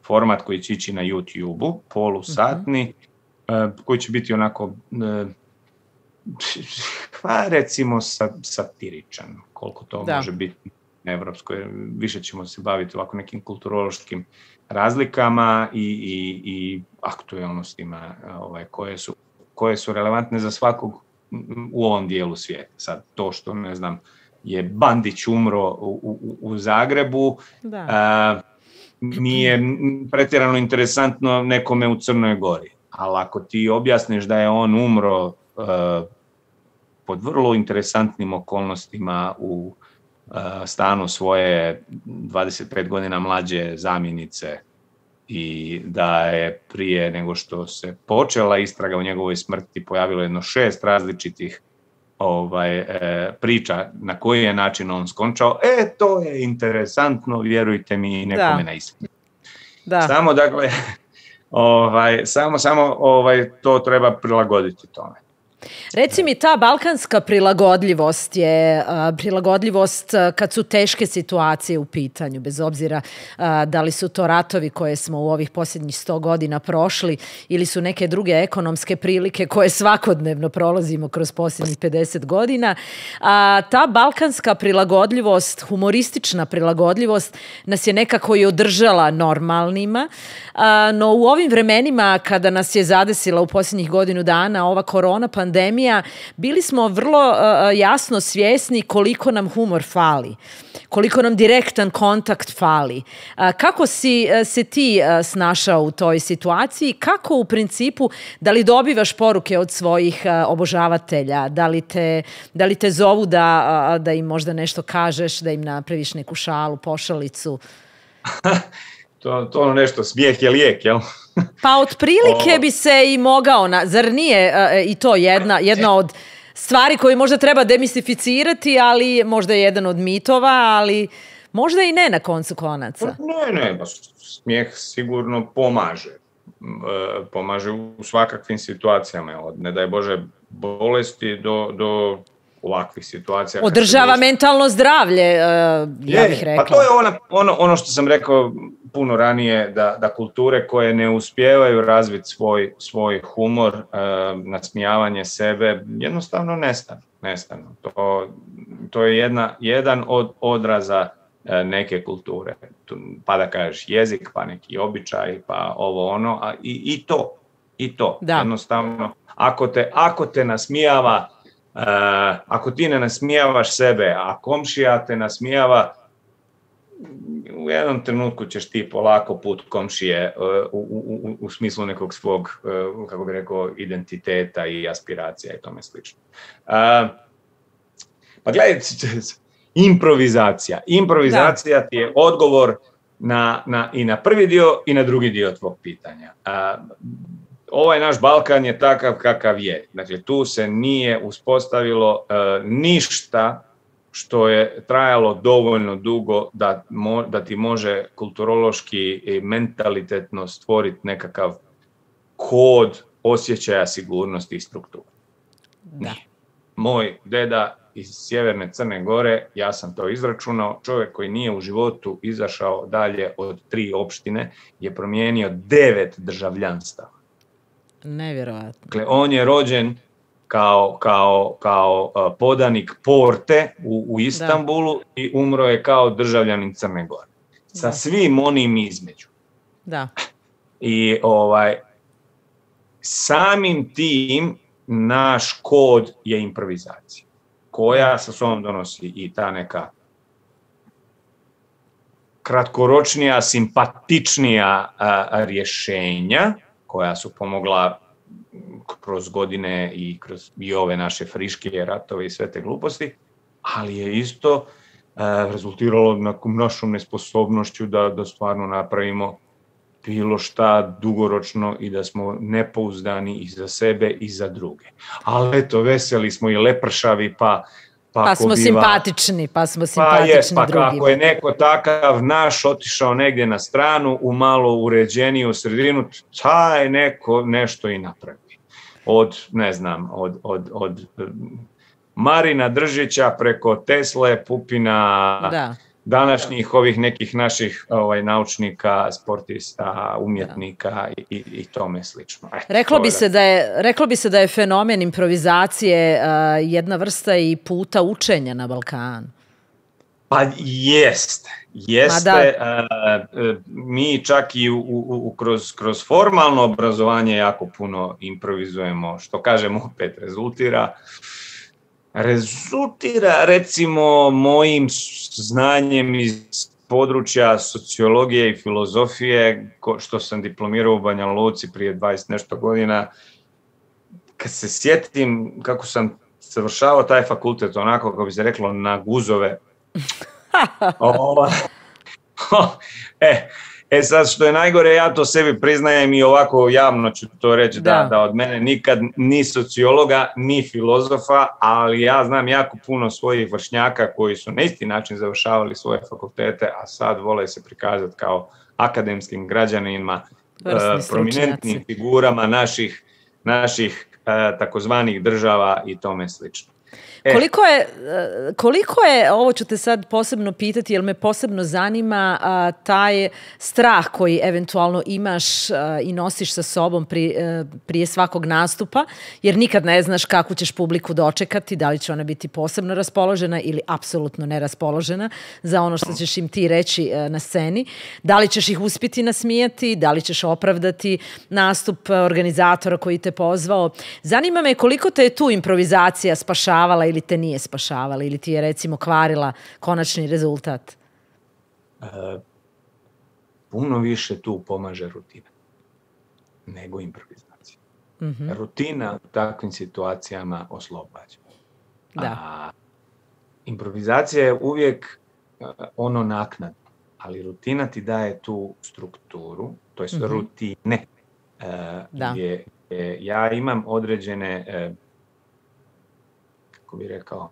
format koji će ići na YouTube-u, polusatni, mm-hmm. koji će biti onako, pa recimo satiričan, koliko to da. Može biti na evropskoj. Više ćemo se baviti ovako nekim kulturološkim razlikama i, i, i aktualnostima ovaj, koje, su, koje su relevantne za svakog u ovom dijelu svijeta. Sad to što, ne znam, je Bandić umro u, u, u Zagrebu, da. A, nije pretjerano interesantno nekome u Crnoj Gori. Ali ako ti objasniš da je on umro uh, pod vrlo interesantnim okolnostima u uh, stanu svoje dvadeset pet godina mlađe zamjenice i da je prije nego što se počela istraga o njegovoj smrti pojavilo jedno šest različitih ovaj, e, priča na koji je način on skončao, e, to je interesantno, vjerujte mi, nekome na istinu. Samo, dakle, ovaj, samo, samo ovaj, to treba prilagoditi tome. Reci mi, ta balkanska prilagodljivost je uh, prilagodljivost uh, kad su teške situacije u pitanju, bez obzira uh, da li su to ratovi koje smo u ovih posljednjih sto godina prošli ili su neke druge ekonomske prilike koje svakodnevno prolazimo kroz posljednjih pedeset godina. Uh, ta balkanska prilagodljivost, humoristična prilagodljivost nas je nekako i održala normalnima, uh, no u ovim vremenima kada nas je zadesila u posljednjih godinu dana ova korona pandemija, pandemija, bili smo vrlo uh, jasno svjesni koliko nam humor fali, koliko nam direktan kontakt fali. Uh, kako si uh, se ti uh, snašao u toj situaciji? Kako u principu, da li dobivaš poruke od svojih uh, obožavatelja? Da li te, da li te zovu da, uh, da im možda nešto kažeš, da im napraviš neku šalu, pošalicu? To, to ono nešto, smijeh je lijek, jel? Pa otprilike bi se i mogao, na, zar nije uh, i to jedna, jedna od stvari koje možda treba demistificirati, ali možda je jedan od mitova, ali možda i ne na koncu konaca. Ne, ne, ba, smijeh sigurno pomaže. E, pomaže u svakakvim situacijama, od ne daj Bože bolesti do, do ovakvih situacija. Održava mentalno zdravlje, uh, ja je, bih rekla. Pa to je ona, ono, ono što sam rekao puno ranije, da, da kulture koje ne uspijevaju razviti svoj, svoj humor, uh, nasmijavanje sebe, jednostavno nestanu. nestanu. To, to je jedna, jedan od odraza uh, neke kulture. Pa da kažeš jezik, pa neki običaj, pa ovo ono, a i, i to. I to. Da. Jednostavno, ako te, ako te nasmijava, Uh, ako ti ne nasmijavaš sebe, a komšija te nasmijava, u jednom trenutku ćeš ti polako put komšije uh, u, u, u smislu nekog svog, uh, kako bih rekao, identiteta i aspiracija i tome slično. Uh, pa gledaj, improvizacija. Improvizacija da. Ti je odgovor na, na, i na prvi dio i na drugi dio tvog pitanja. Uh, Ovaj naš Balkan je takav kakav je. Dakle, tu se nije uspostavilo e, ništa što je trajalo dovoljno dugo da, mo, da ti može kulturološki i mentalitetno stvoriti nekakav kod osjećaja sigurnosti i strukture. Da. Moj deda iz sjeverne Crne Gore, ja sam to izračunao, čovjek koji nije u životu izašao dalje od tri opštine, je promijenio devet državljanstava. Nevjerojatno. Dakle, on je rođen kao, kao, kao uh, podanik Porte u, u Istanbulu da. I umro je kao državljanin Crne Gore. Sa da. Svim onim između. Da. I ovaj, samim tim naš kod je improvizacija, koja sa sobom donosi i ta neka kratkoročnija, simpatičnija a, a, rješenja koja su pomogla kroz godine i kroz i ove naše friške ratove i sve te gluposti, ali je isto a, rezultiralo našom nesposobnošću da, da stvarno napravimo bilo šta dugoročno i da smo nepouzdani i za sebe i za druge. Ali eto, veseli smo i lepršavi, pa Pa, pa smo biva, simpatični, pa smo simpatični pa jest, pa drugima. Kako je neko takav naš otišao negdje na stranu, u malo uređeniju sredinu, taj neko nešto i napravi. Od, ne znam, od, od, od Marina Držića preko Tesle, Pupina, da. Današnjih ovih nekih naših ovaj, naučnika, sportista, umjetnika i, i, i tome slično. Eto, reklo, bi se da je, reklo bi se da je fenomen improvizacije uh, jedna vrsta i puta učenja na Balkanu. Pa jeste, jeste. Uh, mi čak i u, u, u, kroz, kroz formalno obrazovanje jako puno improvizujemo, što kažemo opet rezultira. Rezultira, recimo, mojim znanjem iz područja sociologije i filozofije, što sam diplomirao u Banja Luci prije dvadeset nešto godina. Kad se sjetim kako sam završavao taj fakultet, onako, kako bi se reklo, na guzove. o, o, e, E sad, što je najgore, ja to sebi priznajem i ovako javno ću to reći, da, da, da od mene nikad ni sociologa, ni filozofa, ali ja znam jako puno svojih vršnjaka koji su na isti način završavali svoje fakultete, a sad vole se prikazati kao akademskim građanima, uh, prominentnim figurama naših, naših uh, takozvanih država i tome slično. Koliko je, koliko je, ovo ću te sad posebno pitati, jer me posebno zanima a, taj strah koji eventualno imaš a, i nosiš sa sobom pri, a, prije svakog nastupa, jer nikad ne znaš kako ćeš publiku dočekati, da li će ona biti posebno raspoložena ili apsolutno neraspoložena za ono što ćeš im ti reći a, na sceni. Da li ćeš ih uspjeti nasmijati, da li ćeš opravdati nastup organizatora koji te pozvao. Zanima me koliko te je tu improvizacija spašavala ili te nije spašavala, ili ti je, recimo, kvarila konačni rezultat? E, puno više tu pomaže rutina nego improvizacija. Mm-hmm. Rutina u takvim situacijama oslobađa. Da. A improvizacija je uvijek ono naknadno, ali rutina ti daje tu strukturu, to je mm-hmm. rutine. E, da. Gdje, gdje ja imam određene e, bi rekao,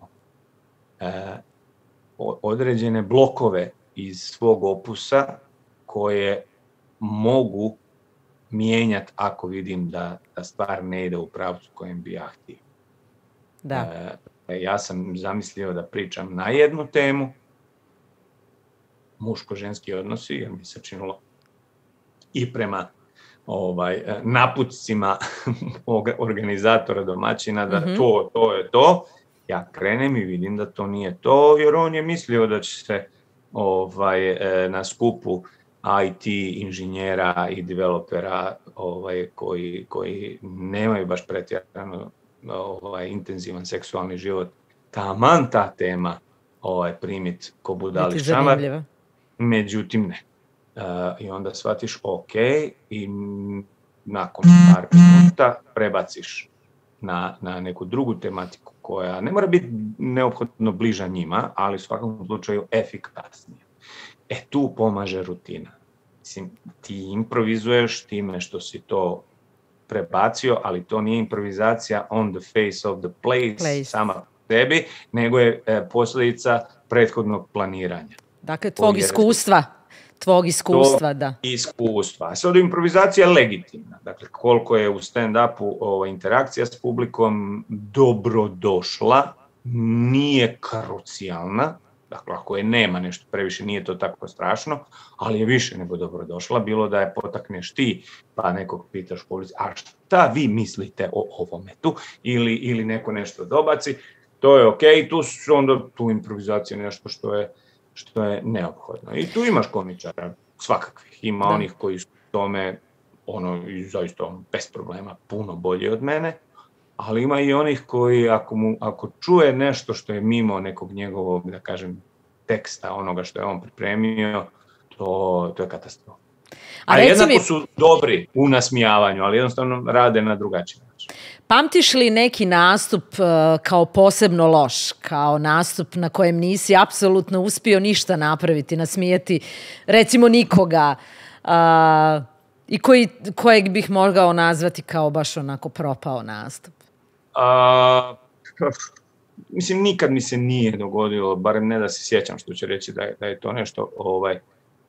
e, određene blokove iz svog opusa koje mogu mijenjati ako vidim da, da stvar ne ide u pravcu kojem bi ja htio. Da. E, ja sam zamislio da pričam na jednu temu, muško-ženski odnosi, jer mi se činilo i prema ovaj, naputcima organizatora domaćina da mm-hmm. to, to je to. Ja krenem i vidim da to nije to, jer on je mislio da će se ovaj, na skupu I T inženjera i developera ovaj, koji, koji nemaju baš pretjerano ovaj, intenzivan seksualni život, taman ta tema ovaj, primit ko budali šamar. Međutim, ne. Uh, I onda shvatiš ok i nakon par minuta prebaciš na, na neku drugu tematiku koja ne mora biti neophodno bliža njima, ali u svakom slučaju efikasnija. E tu pomaže rutina. Mislim, ti improvizuješ time što si to prebacio, ali to nije improvizacija on the face of the place, place. sama po sebi, nego je e, posljedica prethodnog planiranja. Dakle, tvog iskustva. Tvog iskustva, da. Iskustva. A sad improvizacija je legitimna. Dakle, koliko je u stand-upu ovaj, interakcija s publikom dobrodošla, nije krucijalna. Dakle, ako je nema nešto previše, nije to tako strašno, ali je više nego dobrodošla. Bilo da je potakneš ti, pa nekog pitaš u publici, a šta vi mislite o ovome tu? Ili, ili neko nešto dobaci. To je okej, tu su onda tu improvizacija nešto što je što je neophodno. I tu imaš komičara svakakvih. Ima da. Onih koji su tome ono, i zaista bez problema puno bolji od mene, ali ima i onih koji ako, mu, ako čuje nešto što je mimo nekog njegovog, da kažem, teksta, onoga što je on pripremio, to, to je katastrofa. A, A jednako mi... su dobri u nasmijavanju, ali jednostavno rade na drugačiji način. Pamtiš li neki nastup uh, kao posebno loš, kao nastup na kojem nisi apsolutno uspio ništa napraviti, nasmijeti, recimo nikoga, uh, i koji, kojeg bih mogao nazvati kao baš onako propao nastup? A, mislim, nikad mi se nije dogodilo, barem ne da se sjećam, što će reći da je, da je to nešto ovaj,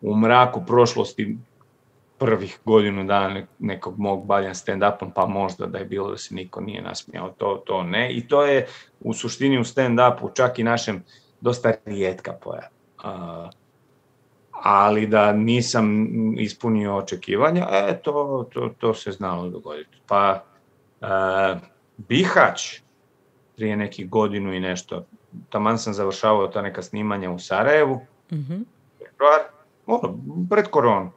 u mraku prošlosti prvih godinu dana nekog mog bavljenja stand-upom, pa možda da je bilo da se niko nije nasmijao, to, to ne. I to je u suštini u stand-upu čak i našem dosta rijetka pojava. Uh, ali da nisam ispunio očekivanja, e, to, to, to se znalo dogoditi. Pa uh, Bihać, prije nekih godinu i nešto, taman sam završavao ta neka snimanja u Sarajevu, mm-hmm. ono, pred koronu.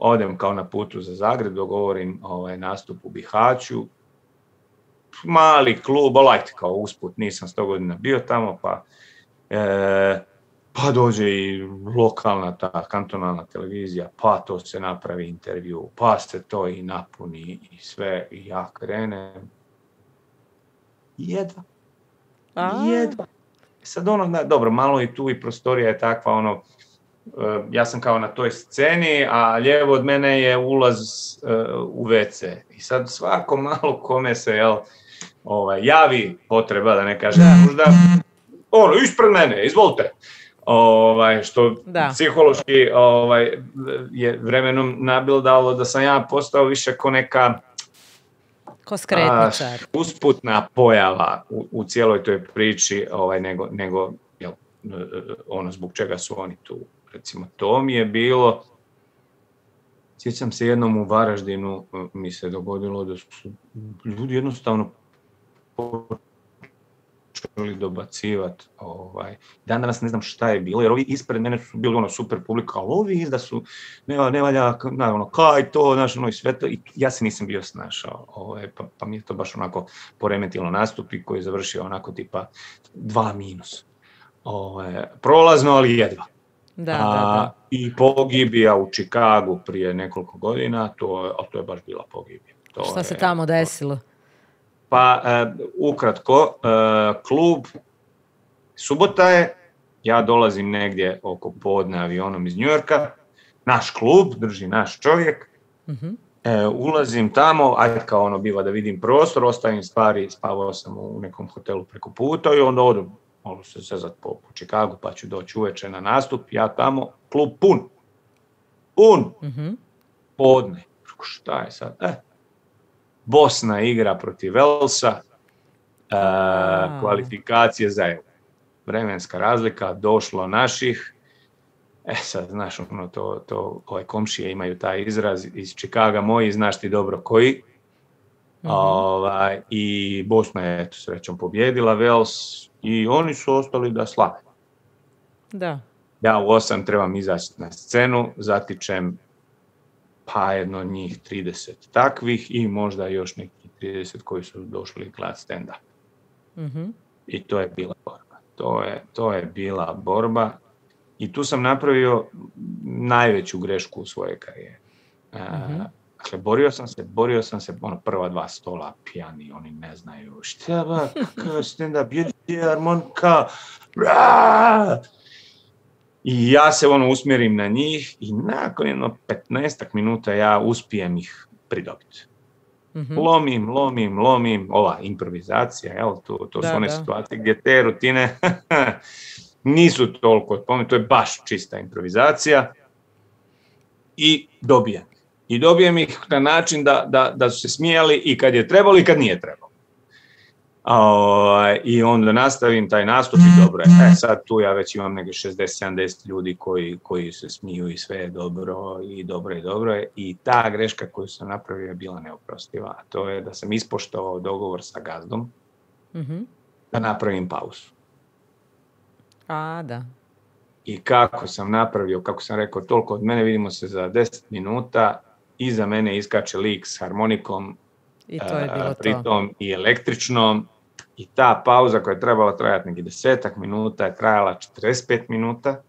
Odem kao na putu za Zagreb, dogovorim ovaj, nastup u Bihaću. Mali klub, light kao usput, nisam sto godina bio tamo, pa, e, pa dođe i lokalna ta kantonalna televizija, pa to se napravi intervju, pa se to i napuni i sve, i ja krenem. Jedva. A. Jedva. Sad ono, da, dobro, malo i tu i prostorija je takva, ono, ja sam kao na toj sceni, a lijevo od mene je ulaz uh, u ve ce. I sad svako malo kome se jel, ovaj, javi potreba, da ne kažem možda, ono, ispred mene, izvolite. Ovaj, što da. Psihološki ovaj, je vremenom nabildalo da sam ja postao više ko neka ko skretničar. A, usputna pojava u, u cijeloj toj priči, ovaj, nego, nego jel, ono zbog čega su oni tu. Recimo, to mi je bilo, sjećam se jednom u Varaždinu, mi se dogodilo da su ljudi jednostavno počeli dobacivati. Ovaj. Dan danas ne znam šta je bilo, jer ovi ispred mene su bili ono super publika, ali ovi izda su, ne, ne valja, ne, ono, kaj to, znaš, ono i sve to, i ja se nisam bio snašao, ovaj, pa, pa mi je to baš onako poremetilo nastup i koji je završio onako tipa dva minus. Ovaj, prolazno, ali jedva. Da, A, da, da. I pogibija u Čikagu prije nekoliko godina, to, a to je baš bila pogibija. To Šta je, se tamo desilo? Pa, uh, ukratko, uh, klub, subota je, ja dolazim negdje oko podne avionom iz Njujorka, naš klub, drži naš čovjek, uh-huh. uh, ulazim tamo, ajde kao ono biva da vidim prostor, ostavim stvari, spavao sam u nekom hotelu preko puta i onda odem. Mogu se sezat po, po Čikagu, pa ću doći uveče na nastup, ja tamo, klub pun, pun, mm-hmm. podne, šta je sad, e, Bosna igra protiv Velsa, e, kvalifikacije za euro, vremenska razlika, došlo naših, e sad, znaš, ono, to, to, ove komšije imaju taj izraz iz Čikaga moji, znaš ti dobro koji, mm-hmm. ovaj, i Bosna je, eto, srećom pobjedila Vels, i oni su ostali da slave. Da. Ja u osam trebam izaći na scenu, zatičem pa jedno njih trideset takvih i možda još neki trideset koji su došli gledati stand-up. Mm-hmm. I to je bila borba. To je, to je bila borba i tu sam napravio najveću grešku u svojoj karijeri. Mm-hmm. Dakle, borio sam se, borio sam se, ono, prva dva stola, pijani, oni ne znaju, šta ba, kakav stand-up, je harmonika, i ja se, ono, usmjerim na njih i nakon jedno petnaestak minuta ja uspijem ih pridobiti. Mm-hmm. Lomim, lomim, lomim, ova improvizacija, jel, to, to da, su one da. situacije gdje te rutine nisu toliko odpomene, to je baš čista improvizacija i dobijem. I dobijem ih na način da, da, da su se smijali i kad je trebalo i kad nije trebalo. O, I onda nastavim taj nastup i dobro je. E, sad tu ja već imam neke šezdeset sedamdeset ljudi koji, koji se smiju i sve je dobro i dobro je dobro je. I ta greška koju sam napravio je bila neoprostiva. A to je da sam ispoštovao dogovor sa gazdom mm-hmm. da napravim pauzu. A, da. I kako sam napravio, kako sam rekao, toliko od mene, vidimo se za deset minuta, iza mene iskače lik s harmonikom, i to je bilo pritom to. I električnom, i ta pauza koja je trebala trajati neki desetak minuta je trajala četrdeset pet minuta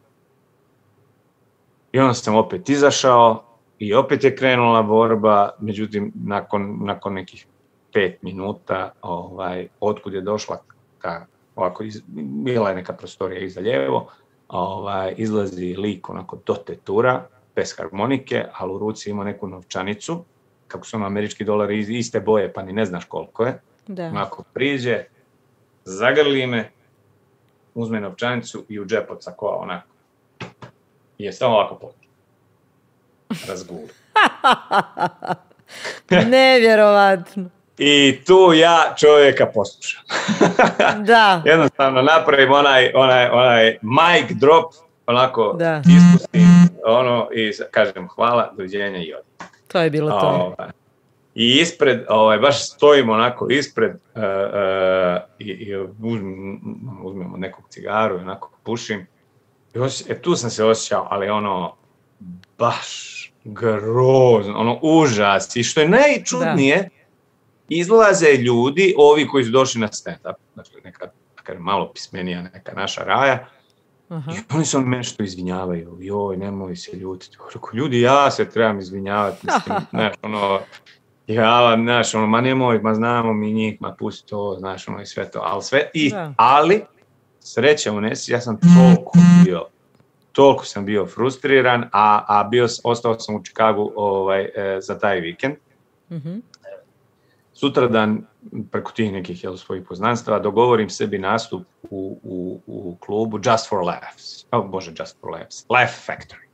I onda sam opet izašao i opet je krenula borba, međutim, nakon, nakon nekih pet minuta, ovaj, otkud je došla ta, ovako, iz, bila je neka prostorija iza lijevo, ovaj, izlazi lik onako do tetura, bez harmonike, ali u ruci ima neku novčanicu, kako su ono američki dolari iste boje, pa ni ne znaš koliko je. Da. Onako priđe, zagrli me, uzme novčanicu i u džep odsakova onako. I je samo ovako počeo. Razguli. Nevjerovatno. I tu ja čovjeka poslušam. Da. Jednostavno napravim onaj, onaj, onaj mic drop, onako da. Ispustim ono i kažem hvala, doviđenja i odmah. To je bilo to. Ovaj, I ispred, ovaj, baš stojimo onako ispred uh, uh, i, i uzmem, uzmemo nekog cigaru i onako pušim. I osje, e, tu sam se osjećao, ali ono, baš grozno, ono, užas. I što je najčudnije, da. Izlaze ljudi, ovi koji su došli na stand-up, dakle neka, neka malo pismenija, neka naša raja, uh-huh. I oni se on meni što izvinjavaju, joj, nemoj se ljutiti. Rekao, ljudi, ja se trebam izvinjavati, mislim, znaš, ono, ja, znaš, ono, ma nemoj, ma znamo mi njih, ma pusti to, znaš, ono, i sve to, ali sve, i, ali, sreća u nesi, ja sam toliko bio, toliko sam bio frustriran, a, a bio, ostao sam u Chicagu ovaj, e, za taj vikend. Mm-hmm. Sutradan, preko tih nekih jel, svojih poznanstava, dogovorim sebi nastup u, u, u klubu Just for Laughs. Oh, bože, Just for Laughs. Laugh Factory.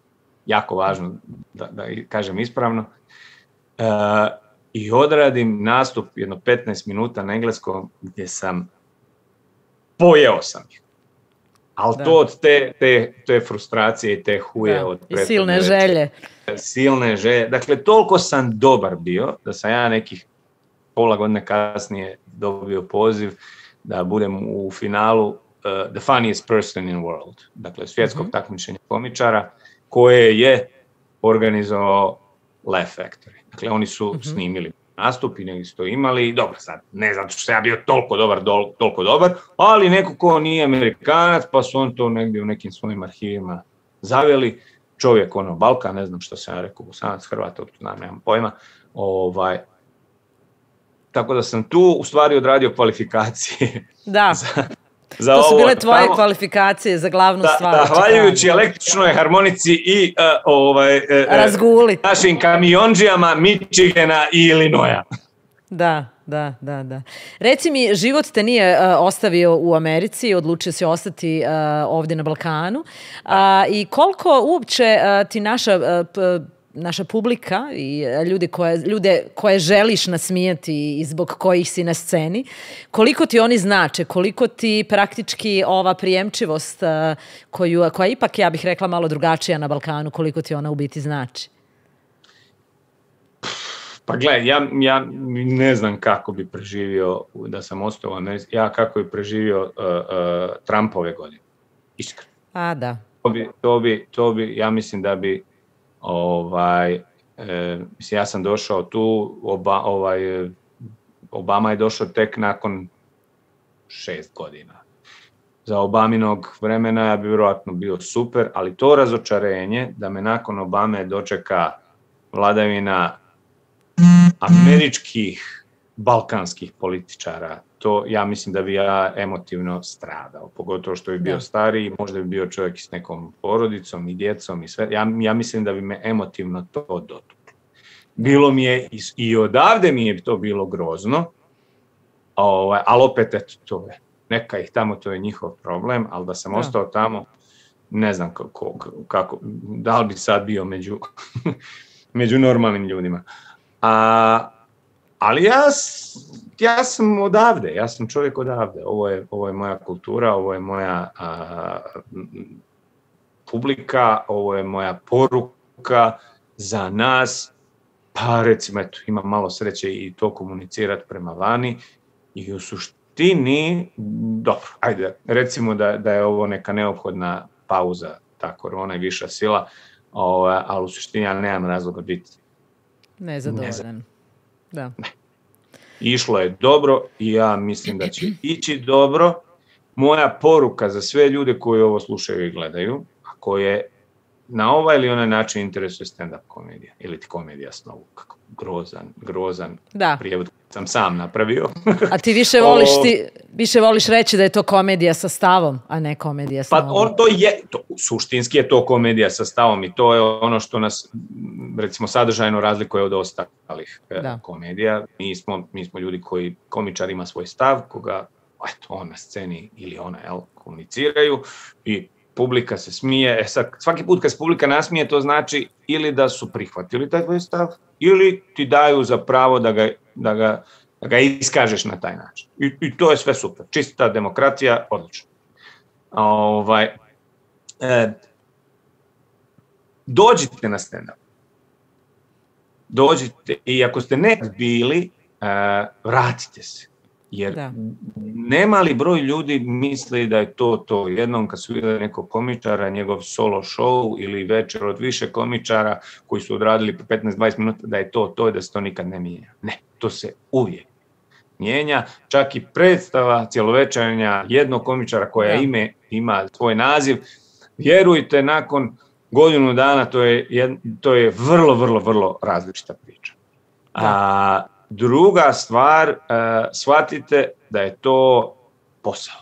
Jako važno da, da kažem ispravno. E, I odradim nastup jedno petnaest minuta na engleskom gdje sam pojeo sam ih. Ali to od te, te, te frustracije i te huje da. Od i silne želje. Silne želje. Dakle, toliko sam dobar bio da sam ja nekih pola godine kasnije dobio poziv da budem u finalu uh, The Funniest Person in the World. Dakle, svjetskog mm-hmm. takmičenja komičara koje je organizovao Laugh Factory. Dakle, oni su mm-hmm. snimili nastup i negdje su to imali. Dobro, sad, ne zato što ja bio toliko dobar, dol, toliko dobar, ali neko ko nije Amerikanac, pa su on to negdje u nekim svojim arhivima zaveli. Čovjek, ono, Balkan, ne znam što sam ja rekao, Bosanac, Hrvat, otkud znam, nemam pojma. Ovaj, tako da sam tu u stvari odradio kvalifikacije. Da. za, za to su ovo, bile tvoje tamo, kvalifikacije za glavnu da, stvar. Zahvaljujući električnoj harmonici i uh, ovaj, uh, Razguli. našim kamionđijama Michigana i Illinoisa. Da, da, da, da. Reci mi, život te nije uh, ostavio u Americi, odlučio si ostati uh, ovdje na Balkanu. Uh, I koliko uopće uh, ti naša... Uh, p- naša publika i ljudi koje, ljude koje želiš nasmijati i zbog kojih si na sceni, koliko ti oni znače, koliko ti praktički ova prijemčivost koju, koja ipak, ja bih rekla, malo drugačija na Balkanu, koliko ti ona u biti znači? Pa gledaj, ja, ja ne znam kako bi preživio da sam ostao u Americi, ja kako bi preživio uh, uh, Trumpove godine, iskreno. A, da. To bi, to bi, to bi, ja mislim da bi Ovaj, e, mislim, ja sam došao tu, oba, ovaj, Obama je došao tek nakon šest godina. Za Obaminog vremena ja bi vjerojatno bio super, ali to razočarenje da me nakon Obame dočeka vladavina američkih, balkanskih političara, to ja mislim da bi ja emotivno stradao, pogotovo što bi bio stariji, možda bi bio čovjek s nekom porodicom i djecom i sve. Ja, ja mislim da bi me emotivno to dotuklo. Bilo mi je, i, i odavde mi je to bilo grozno, ovaj, ali opet eto, to je, neka ih tamo, to je njihov problem, ali da sam da. ostao tamo, ne znam kako, kako, da li bi sad bio među, među normalnim ljudima. A, ali ja, ja sam odavde, ja sam čovjek odavde, ovo je, ovo je moja kultura, ovo je moja a, publika, ovo je moja poruka za nas, pa recimo eto, imam malo sreće i to komunicirati prema vani i u suštini, dobro, ajde, recimo da, da je ovo neka neophodna pauza, ta korona i viša sila, o, ali u suštini ja nemam razloga biti nezadovoljan. Da. Ne. Išlo je dobro i ja mislim da će ići dobro. Moja poruka za sve ljude koji ovo slušaju i gledaju, a koje na ovaj ili onaj način interesuje stand-up komedija ili ti komedija snovu. Kako grozan, grozan prijevod sam sam napravio. A ti više voliš, ti više voliš reći da je to komedija sa stavom, a ne komedija snovu? Pa on to je, to, suštinski je to komedija sa stavom i to je ono što nas, recimo, sadržajno razlikuje od ostalih da. komedija. Mi smo, mi smo ljudi koji, komičar ima svoj stav, koga, eto, on na sceni ili ona, jel, komuniciraju i publika se smije. E sad, svaki put kad se publika nasmije, to znači ili da su prihvatili taj tvoj stav, ili ti daju za pravo da ga, da ga, da ga iskažeš na taj način. I, i to je sve super. Čista demokratija, odlično. Ovaj, e, dođite na stand-up. Dođite i ako ste nekad bili, e, vratite se. Jer da. Nemali broj ljudi misli da je to to. Jednom kad su vidjeli nekog komičara, njegov solo show ili večer od više komičara koji su odradili po petnaest do dvadeset minuta, da je to to i da se to nikad ne mijenja. Ne, to se uvijek mijenja. Čak i predstava cjelovečernja jednog komičara koja ime, ima svoj naziv, vjerujte, nakon godinu dana to je, to je vrlo, vrlo, vrlo različita priča. A druga stvar, uh, shvatite da je to posao.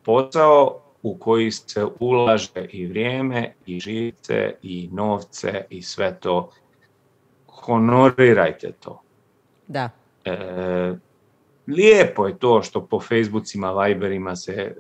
Posao u koji se ulaže i vrijeme, i živce, i novce, i sve to. Honorirajte to. Da. E, lijepo je to što po Facebookima, Viberima se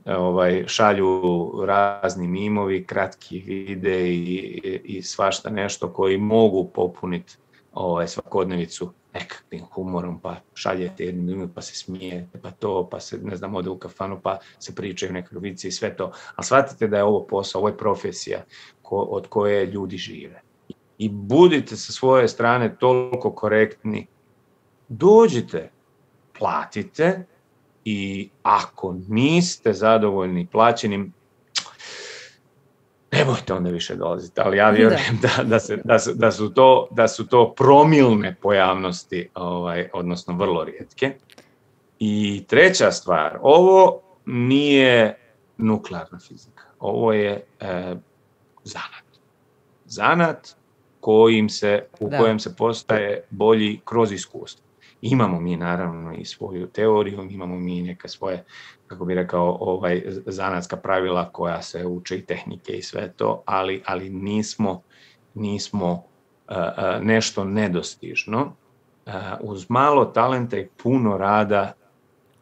e, ovaj, šalju razni mimovi, kratki videi i, i svašta nešto koji mogu popuniti ovaj, svakodnevicu nekakvim humorom, pa šaljete jednu minutu, pa se smijete, pa to, pa se, ne znam, ode u kafanu, pa se pričaju nekakve vici i sve to. Ali shvatite da je ovo posao, ovo je profesija ko, od koje ljudi žive. I budite sa svoje strane toliko korektni. Dođite, platite i ako niste zadovoljni plaćenim, nemojte onda više dolaziti, ali ja vjerujem da, da, se, da, su, da, su, to, da su to promilne pojavnosti, ovaj, odnosno vrlo rijetke. I treća stvar, ovo nije nuklearna fizika, ovo je e, zanat. Zanat kojim se, u da. kojem se postaje bolji kroz iskustvo. Imamo mi naravno i svoju teoriju, imamo mi neke svoje, kako bih rekao, ovaj, zanatska pravila koja se uče i tehnike i sve to, ali, ali nismo, nismo uh, uh, nešto nedostižno. Uh, uz malo talenta i puno rada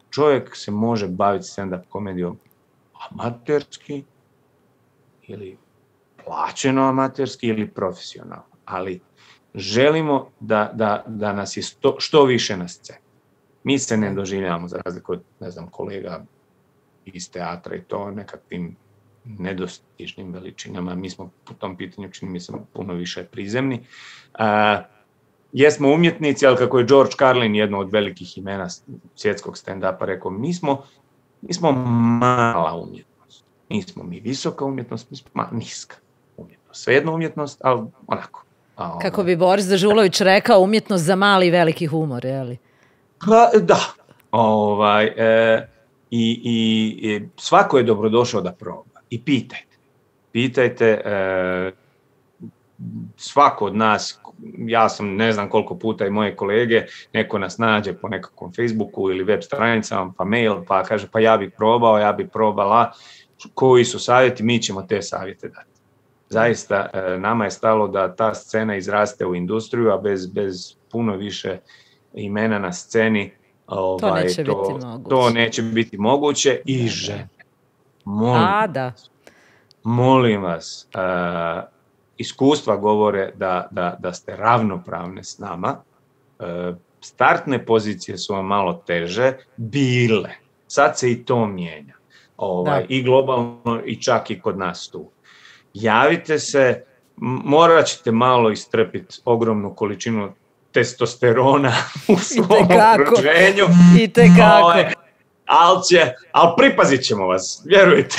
čovjek se može baviti stand-up komedijom amaterski ili plaćeno amaterski ili profesionalno, ali želimo da, da, da nas je sto, što više na sceni. Mi se ne doživljavamo, za razliku od, ne znam, kolega iz teatra i to nekakvim nedostižnim veličinama. Mi smo po tom pitanju, čini mi se, puno više prizemni. A, jesmo umjetnici, ali kako je George Carlin, jedno od velikih imena svjetskog stand-upa, rekao, mi smo, mi smo mala umjetnost. Nismo mi visoka umjetnost, mi smo ma, niska umjetnost. Svejedno umjetnost, ali onako. A, kako bi Boris Dežulović rekao, umjetnost za mali i veliki humor, je li? Pa, da. Ovaj, e, i, i, i svako je dobrodošao da proba. I pitajte. Pitajte, e, svako od nas, ja sam ne znam koliko puta i moje kolege, neko nas nađe po nekakvom Facebooku ili web stranicama, pa mail, pa kaže, pa ja bih probao, ja bih probala, koji su savjeti, mi ćemo te savjete dati. Zaista, nama je stalo da ta scena izraste u industriju, a bez, bez puno više imena na sceni ovaj, to, neće to, biti moguće. to neće biti moguće. I žene. Molim, a, da. molim vas, uh, iskustva govore da, da, da ste ravnopravne s nama. Uh, startne pozicije su vam malo teže, bile. Sad se i to mijenja. Ovaj, I globalno i čak i kod nas tu. Javite se, morat ćete malo istrpiti ogromnu količinu testosterona u svom okruženju. I tekako. Ali će, ali pripazit ćemo vas, vjerujte.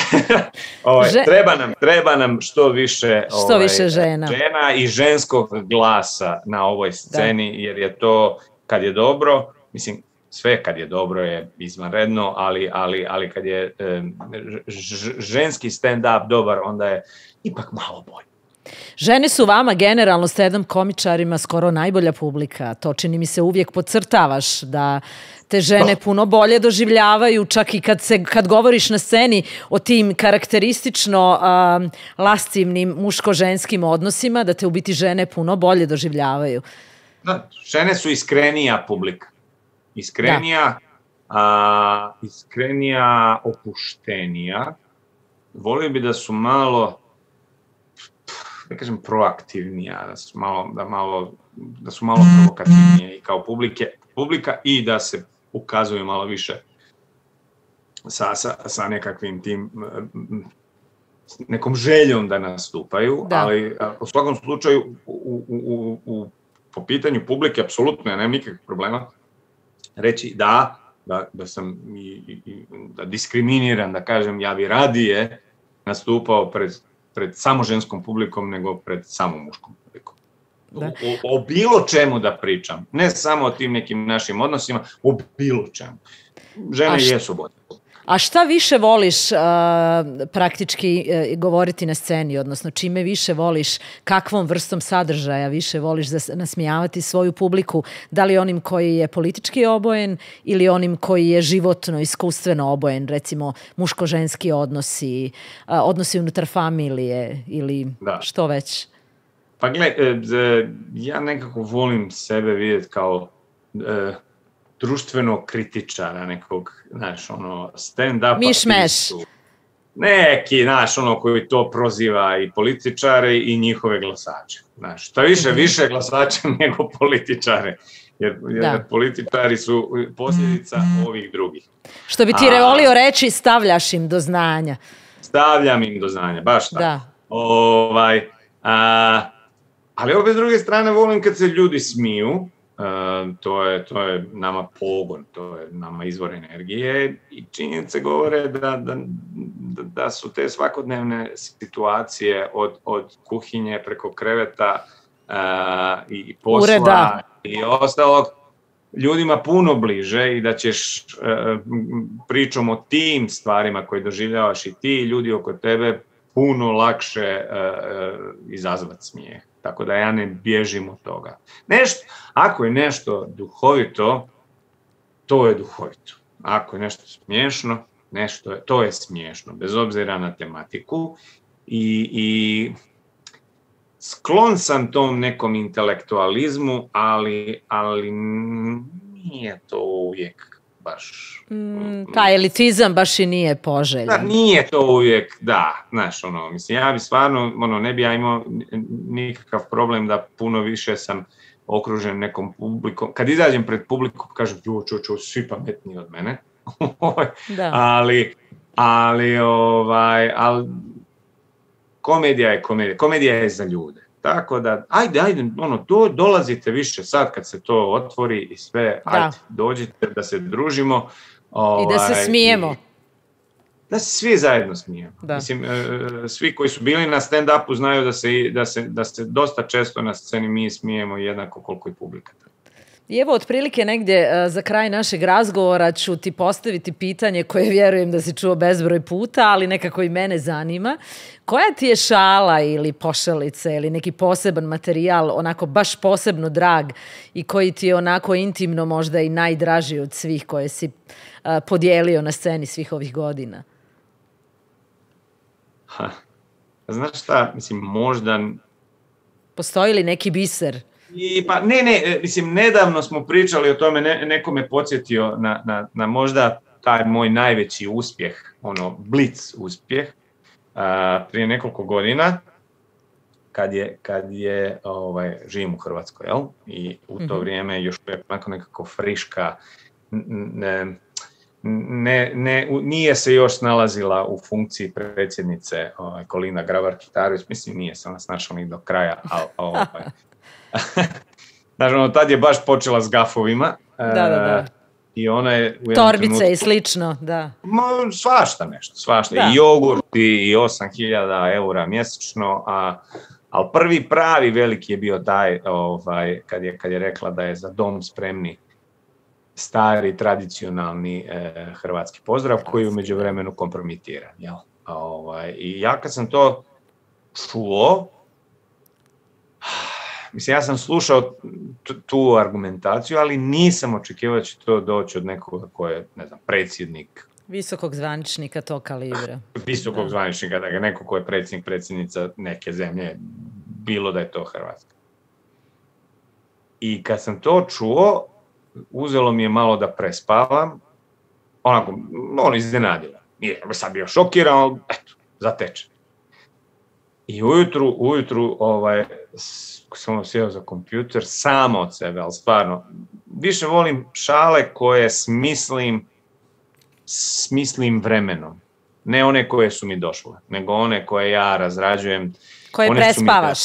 ovaj, Že... treba, nam, treba nam što više, što ovaj, više žena. žena i ženskog glasa na ovoj sceni, da. Jer je to, kad je dobro, mislim, sve kad je dobro je izvanredno, ali, ali, ali kad je e, ž, ženski stand-up dobar, onda je ipak malo bolje. Žene su vama generalno stand-up komičarima skoro najbolja publika. To čini mi se uvijek podcrtavaš da te žene puno bolje doživljavaju, čak i kad, se, kad govoriš na sceni o tim karakteristično um, lascivnim muško-ženskim odnosima, da te u biti žene puno bolje doživljavaju. Da, žene su iskrenija publika. Iskrenija, a, iskrenija, opuštenija. Volio bi da su malo, da kažem, proaktivnija, da su malo, da malo, da su malo provokativnije i kao publike, publika i da se ukazuju malo više sa, sa, sa nekakvim tim, nekom željom da nastupaju, da. Ali u svakom slučaju u, u, u, u, po pitanju publike apsolutno ja nemam nikakvih problema reći da, da, da sam i, i, da diskriminiram, da kažem ja bi radije nastupao pred, pred samo ženskom publikom nego pred samo muškom publikom. O, o, o bilo čemu da pričam, ne samo o tim nekim našim odnosima, o bilo čemu. Žene šta, jesu bolje. A šta više voliš uh, praktički uh, govoriti na sceni, odnosno čime više voliš, kakvom vrstom sadržaja više voliš nasmijavati svoju publiku, da li onim koji je politički obojen ili onim koji je životno, iskustveno obojen, recimo muško-ženski odnosi, uh, odnosi unutar familije ili da. Što već? Pa gle, ja nekako volim sebe vidjeti kao e, društveno kritičara nekog, znaš, ono, stand-upa. Miš-meš. Neki, znaš, ono, koji to proziva i političare i njihove glasače. Znaš, šta više, mm-hmm. više glasača nego političare. Jer, jer političari su posljedica mm-hmm. ovih drugih. Što bi ti A, volio reći, stavljaš im do znanja. Stavljam im do znanja, baš tako. Da. Ovaj, a, ali opet s druge strane volim kad se ljudi smiju, uh, to, je, to je nama pogon, to je nama izvor energije i činjenice govore da, da, da su te svakodnevne situacije od, od kuhinje preko kreveta uh, i posla Ureda. I ostalog ljudima puno bliže i da ćeš uh, pričom o tim stvarima koje doživljavaš i ti ljudi oko tebe puno lakše uh, izazvati smijeh. Tako da ja ne bježim od toga. Nešto, ako je nešto duhovito, to je duhovito. Ako je nešto smiješno, nešto je, to je smiješno, bez obzira na tematiku. I, i sklon sam tom nekom intelektualizmu, ali, ali nije to uvijek baš... Mm, taj elitizam baš i nije poželjan. Da, nije to uvijek, da, znaš, ono, mislim, ja bi stvarno, ono, ne bi ja imao nikakav problem da puno više sam okružen nekom publikom. Kad izađem pred publikom, kažem, jo, čo, čo, svi pametniji od mene. da. ali, ali, ovaj, ali, komedija je komedija. Komedija je za ljude. Tako da, ajde, ajde, ono, do, dolazite više sad kad se to otvori i sve, da. Ajde, dođite da se družimo. Ovaj, I da se smijemo. Da se svi zajedno smijemo. Da. Mislim, e, svi koji su bili na stand-upu znaju da se, da, se, da se dosta često na sceni mi smijemo jednako koliko i publika. I evo, otprilike negdje uh, za kraj našeg razgovora ću ti postaviti pitanje koje vjerujem da si čuo bezbroj puta, ali nekako i mene zanima. Koja ti je šala ili pošalica ili neki poseban materijal onako baš posebno drag i koji ti je onako intimno možda i najdraži od svih koje si uh, podijelio na sceni svih ovih godina? Ha. Znaš šta, mislim, možda... Postoji li neki biser? I, pa, ne, ne, mislim, nedavno smo pričali o tome, ne, neko me podsjetio na, na, na možda taj moj najveći uspjeh, ono, blic uspjeh, uh, prije nekoliko godina, kad je, kad je ovaj, živim u Hrvatskoj, jel? I u to mm-hmm. vrijeme još onako nekako friška, ne, ne, ne, nije se još nalazila u funkciji predsjednice ovaj, Kolinda Grabar-Kitarović, mislim, nije se ona snašla ni do kraja, ali ovaj, znači, ono, tad je baš počela s gafovima. Da, da, da. I ona je... U Torbice trenutku, i slično, da. Ma, svašta nešto, svašta. Da. I jogurti, i osam hiljada eura mjesečno, a, ali prvi pravi veliki je bio taj, ovaj, kad je, kad je rekla da je za dom spremni stari, tradicionalni e, hrvatski pozdrav koji je u međuvremenu kompromitiran. Jel? Ovaj, I ja kad sam to čuo, mislim, ja sam slušao tu argumentaciju, ali nisam očekivao da će to doći od nekoga ko je, ne znam, predsjednik. Visokog zvaničnika tog kalibra. Visokog da. zvaničnika, dakle, neko ko je predsjednik, predsjednica neke zemlje, bilo da je to Hrvatska. I kad sam to čuo, uzelo mi je malo da prespavam, onako, ono iznenadilo. Nije, sad bio šokiran, ali eto, zateče. I ujutru, ujutru, ovaj, sam sjeo za kompjuter, samo od sebe, ali stvarno, više volim šale koje smislim, smislim vremenom. Ne one koje su mi došle, nego one koje ja razrađujem. Koje one prespavaš?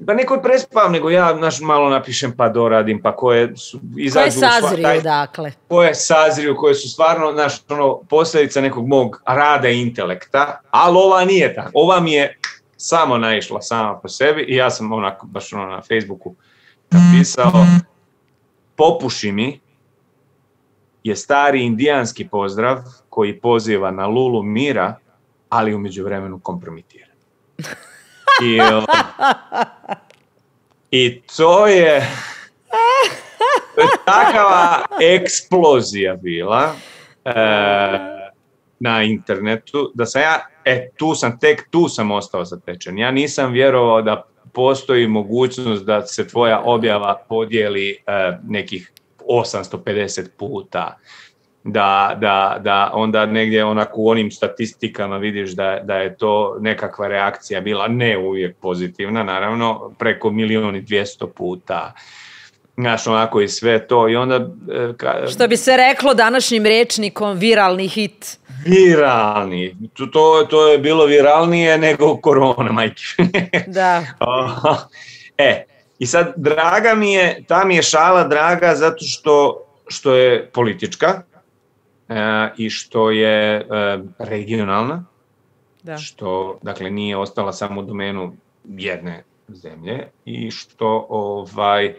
Pa ne koje prespavam, nego ja naš, malo napišem pa doradim, pa koje su izađu... Koje sazriju, taj, dakle. Koje sazriju, koje su stvarno naš, ono, posljedica nekog mog rada i intelekta, ali ova nije tako. Ova mi je samo naišla sama po sebi i ja sam onako, baš ono na Facebooku napisao, popuši mi je stari indijanski pozdrav koji poziva na lulu mira, ali u međuvremenu kompromitira. I, I to je, to je takava eksplozija bila e, na internetu, da sam ja, e, tu sam, tek tu sam ostao zatečen. Ja nisam vjerovao da postoji mogućnost da se tvoja objava podijeli e, nekih osamsto pedeset puta, da, da, da onda negdje onako u onim statistikama vidiš da, da je to nekakva reakcija bila, ne uvijek pozitivna, naravno, preko milijon i dvjesto puta. Znaš, onako i sve to. I onda, ka... Što bi se reklo današnjim rečnikom, viralni hit. Viralni. To, to je bilo viralnije nego korona, majke. Da. E, i sad, draga mi je, ta mi je šala draga zato što, što je politička e, i što je e, regionalna, da. Što, dakle, nije ostala samo u domenu jedne zemlje i što, ovaj,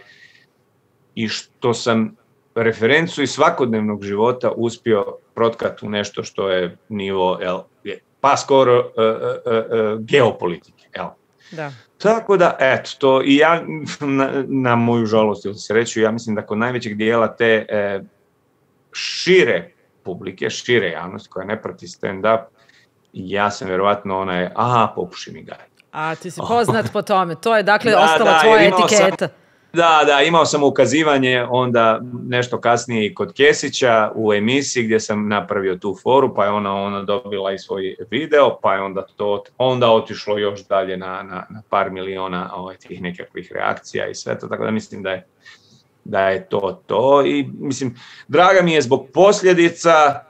i što sam referencu iz svakodnevnog života uspio protkati u nešto što je nivo, el, pa skoro uh, uh, uh, geopolitike. El. Da. Tako da, eto, to i ja, na, na moju žalost ili sreću, ja mislim da kod najvećeg dijela te e, šire publike, šire javnosti koja ne prati stand-up, ja sam vjerovatno onaj, aha, popuši mi gaj. A ti si poznat po tome, to je dakle da, ostala da, tvoja etiketa. Sam, da, da, imao sam ukazivanje onda nešto kasnije i kod Kesića u emisiji gdje sam napravio tu foru, pa je ona, ona dobila i svoj video, pa je onda to onda otišlo još dalje na, na, na par miliona ovaj, tih nekakvih reakcija i sve to, tako da mislim da je, da je to to i mislim, draga mi je zbog posljedica,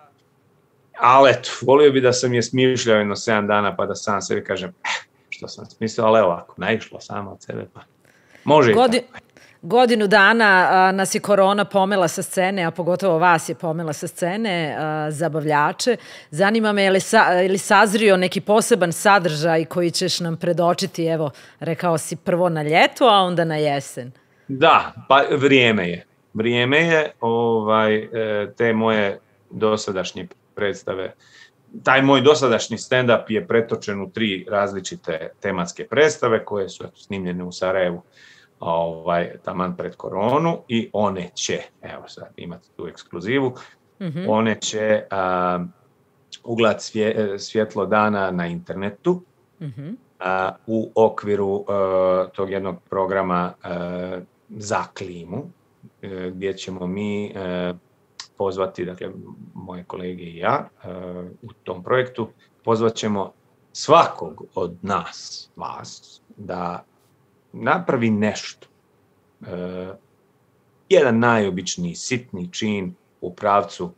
ali eto, volio bi da sam je smišljao jedno sedam dana pa da sam sebi kažem, eh, što sam smislio, ali evo ovako, naišla sama od sebe pa može Godi... i tako. Godinu dana a, nas je korona pomela sa scene, a pogotovo vas je pomela sa scene, a, zabavljače. Zanima me je li, sa, je li sazrio neki poseban sadržaj koji ćeš nam predočiti, evo, rekao si prvo na ljeto, a onda na jesen. Da, pa vrijeme je. Vrijeme je ovaj, te moje dosadašnje predstave. Taj moj dosadašnji stand-up je pretočen u tri različite tematske predstave koje su snimljene u Sarajevu ovaj, taman pred koronu i one će, evo sad imate tu ekskluzivu, mm-hmm. one će a, ugledati svje, svjetlo dana na internetu mm-hmm. a, u okviru a, tog jednog programa a, za klimu, a, gdje ćemo mi a, pozvati, dakle, moje kolege i ja a, u tom projektu, pozvat ćemo svakog od nas, vas, da napravi nešto. E, jedan najobičniji sitni čin u pravcu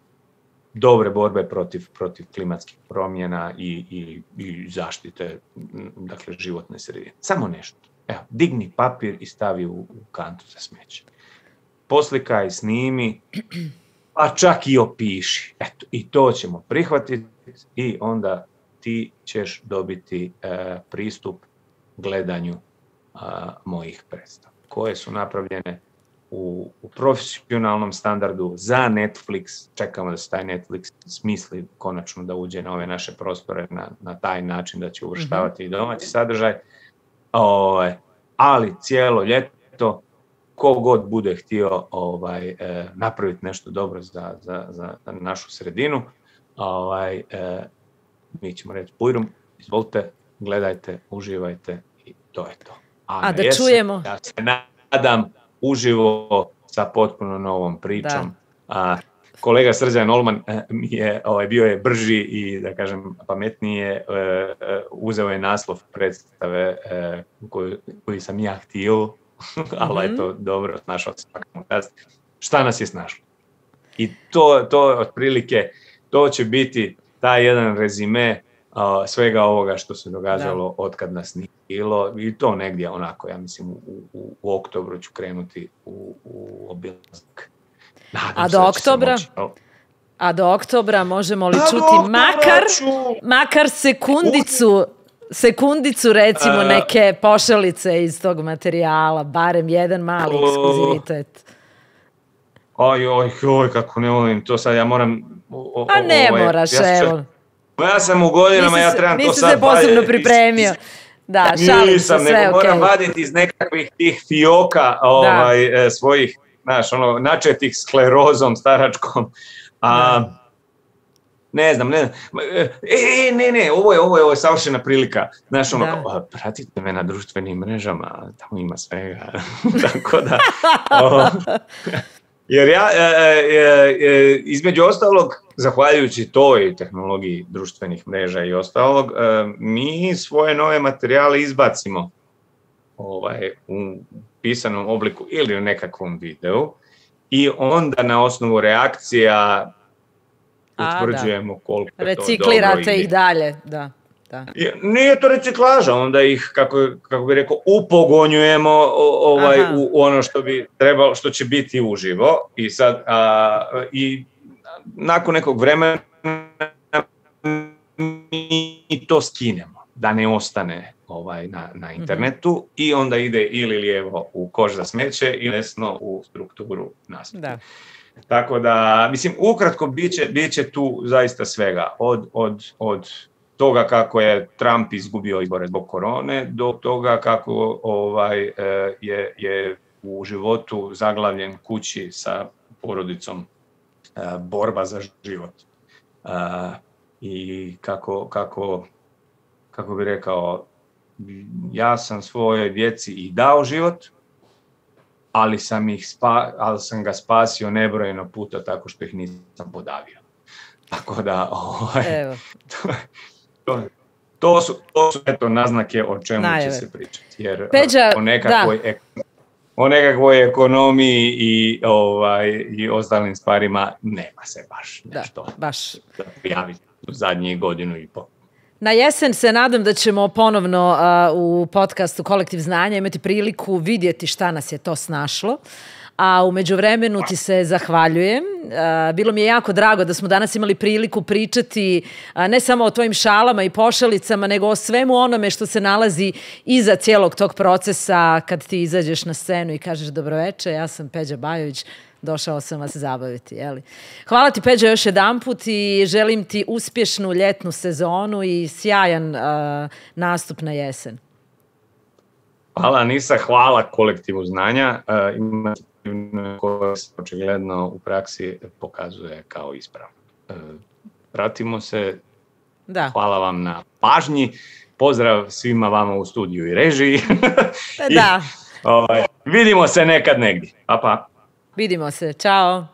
dobre borbe protiv, protiv klimatskih promjena i, i, i zaštite, dakle, životne sredine. Samo nešto. Evo, digni papir i stavi u, u kantu za smeće. Poslikaj, snimi, pa čak i opiši. Eto, i to ćemo prihvatiti i onda ti ćeš dobiti e, pristup gledanju a, mojih predstava, koje su napravljene u, u profesionalnom standardu za Netflix. Čekamo da se taj Netflix smisli konačno da uđe na ove naše prostore na, na taj način da će uvrštavati mm-hmm. i domaći sadržaj. O, ali cijelo ljeto ko god bude htio ovaj, e, napraviti nešto dobro za, za, za našu sredinu, ovaj, e, mi ćemo reći bujrum, izvolite, gledajte, uživajte i to je to. A, A da jesen, čujemo. Ja se nadam uživo sa potpuno novom pričom. A, kolega Srđan Olman mi je, ovaj, bio je brži i, da kažem, pametnije, e, e, uzeo je naslov predstave e, koju, koju sam ja htio, ali je to dobro, snašao se svakam kast. Šta nas je snašlo? I to, to otprilike, to će biti taj jedan rezime uh, svega ovoga što se događalo od kad nas nije bilo. I to negdje onako, ja mislim, u, u, u oktobru ću krenuti u, u obilazak. A do oktobra? Moći, no. A do oktobra možemo li A čuti makar, makar sekundicu, sekundicu recimo neke pošalice iz tog materijala, barem jedan mali ekskluzivitet. Oj, oj, oj, kako ne volim to sad, ja moram... O, o, A ne ovaj, moraš, ja evo. Ja sam u godinama, nisi ja trebam to sad... Nisi se posebno pripremio. Da, šalim se, sve okej. Nego moram vaditi iz nekakvih tih fioka ovaj, e, svojih, znaš, ono, načetih sklerozom staračkom. A, ne znam, ne znam. E, ne, ne, ovo je, ovo je, ovo je savršena prilika. Znaš, ono, kao, pratite me na društvenim mrežama, tamo ima svega. Tako da... O, jer ja, e, e, e, između ostalog, zahvaljujući toj tehnologiji društvenih mreža i ostalog, e, mi svoje nove materijale izbacimo ovaj, u pisanom obliku ili u nekakvom videu i onda na osnovu reakcija utvrđujemo A, koliko je to dobro. Reciklirate ih dalje, da. Da. Nije to reciklaža, onda ih, kako, kako bi rekao, upogonjujemo ovaj, u, u ono što bi trebalo, što će biti uživo i sad a, i nakon nekog vremena mi to skinemo, da ne ostane ovaj, na, na internetu mm-hmm. i onda ide ili lijevo u koš za smeće ili desno u strukturu naslova. Tako da, mislim, ukratko biće, biće tu zaista svega, od, od, od toga kako je Trump izgubio izbore zbog korone, do toga kako ovaj, je, je u životu zaglavljen kući sa porodicom borba za život. I kako, kako, kako bi rekao, ja sam svojoj djeci i dao život, ali sam, ih spa, ali sam ga spasio nebrojeno puta tako što ih nisam podavio. Tako da, ovaj, Evo. to, to, to su, to su eto naznake o čemu Najave. će se pričati. Jer Peđa, o, nekakvoj, ek, o nekakvoj ekonomiji i, ovaj, i ostalim stvarima nema se baš nešto da, baš. da prijaviti u zadnjih godinu i pol. Na jesen se nadam da ćemo ponovno uh, u podcastu Kolektiv znanja imati priliku vidjeti šta nas je to snašlo. A u međuvremenu ti se zahvaljujem. Uh, bilo mi je jako drago da smo danas imali priliku pričati uh, ne samo o tvojim šalama i pošalicama, nego o svemu onome što se nalazi iza cijelog tog procesa kad ti izađeš na scenu i kažeš dobroveče, ja sam Peđa Bajović, došao sam vas zabaviti. Jeli? Hvala ti, Peđa, još jedanput i želim ti uspješnu ljetnu sezonu i sjajan uh, nastup na jesen. Hvala, Anisa, hvala Kolektivu znanja. Uh, ima koje se očigledno u praksi pokazuje kao ispravno. Uh, pratimo se. Da. Hvala vam na pažnji. Pozdrav svima vama u studiju i režiji. I, da. Ovaj, vidimo se nekad negdje. Pa, pa. Vidimo se. Ćao.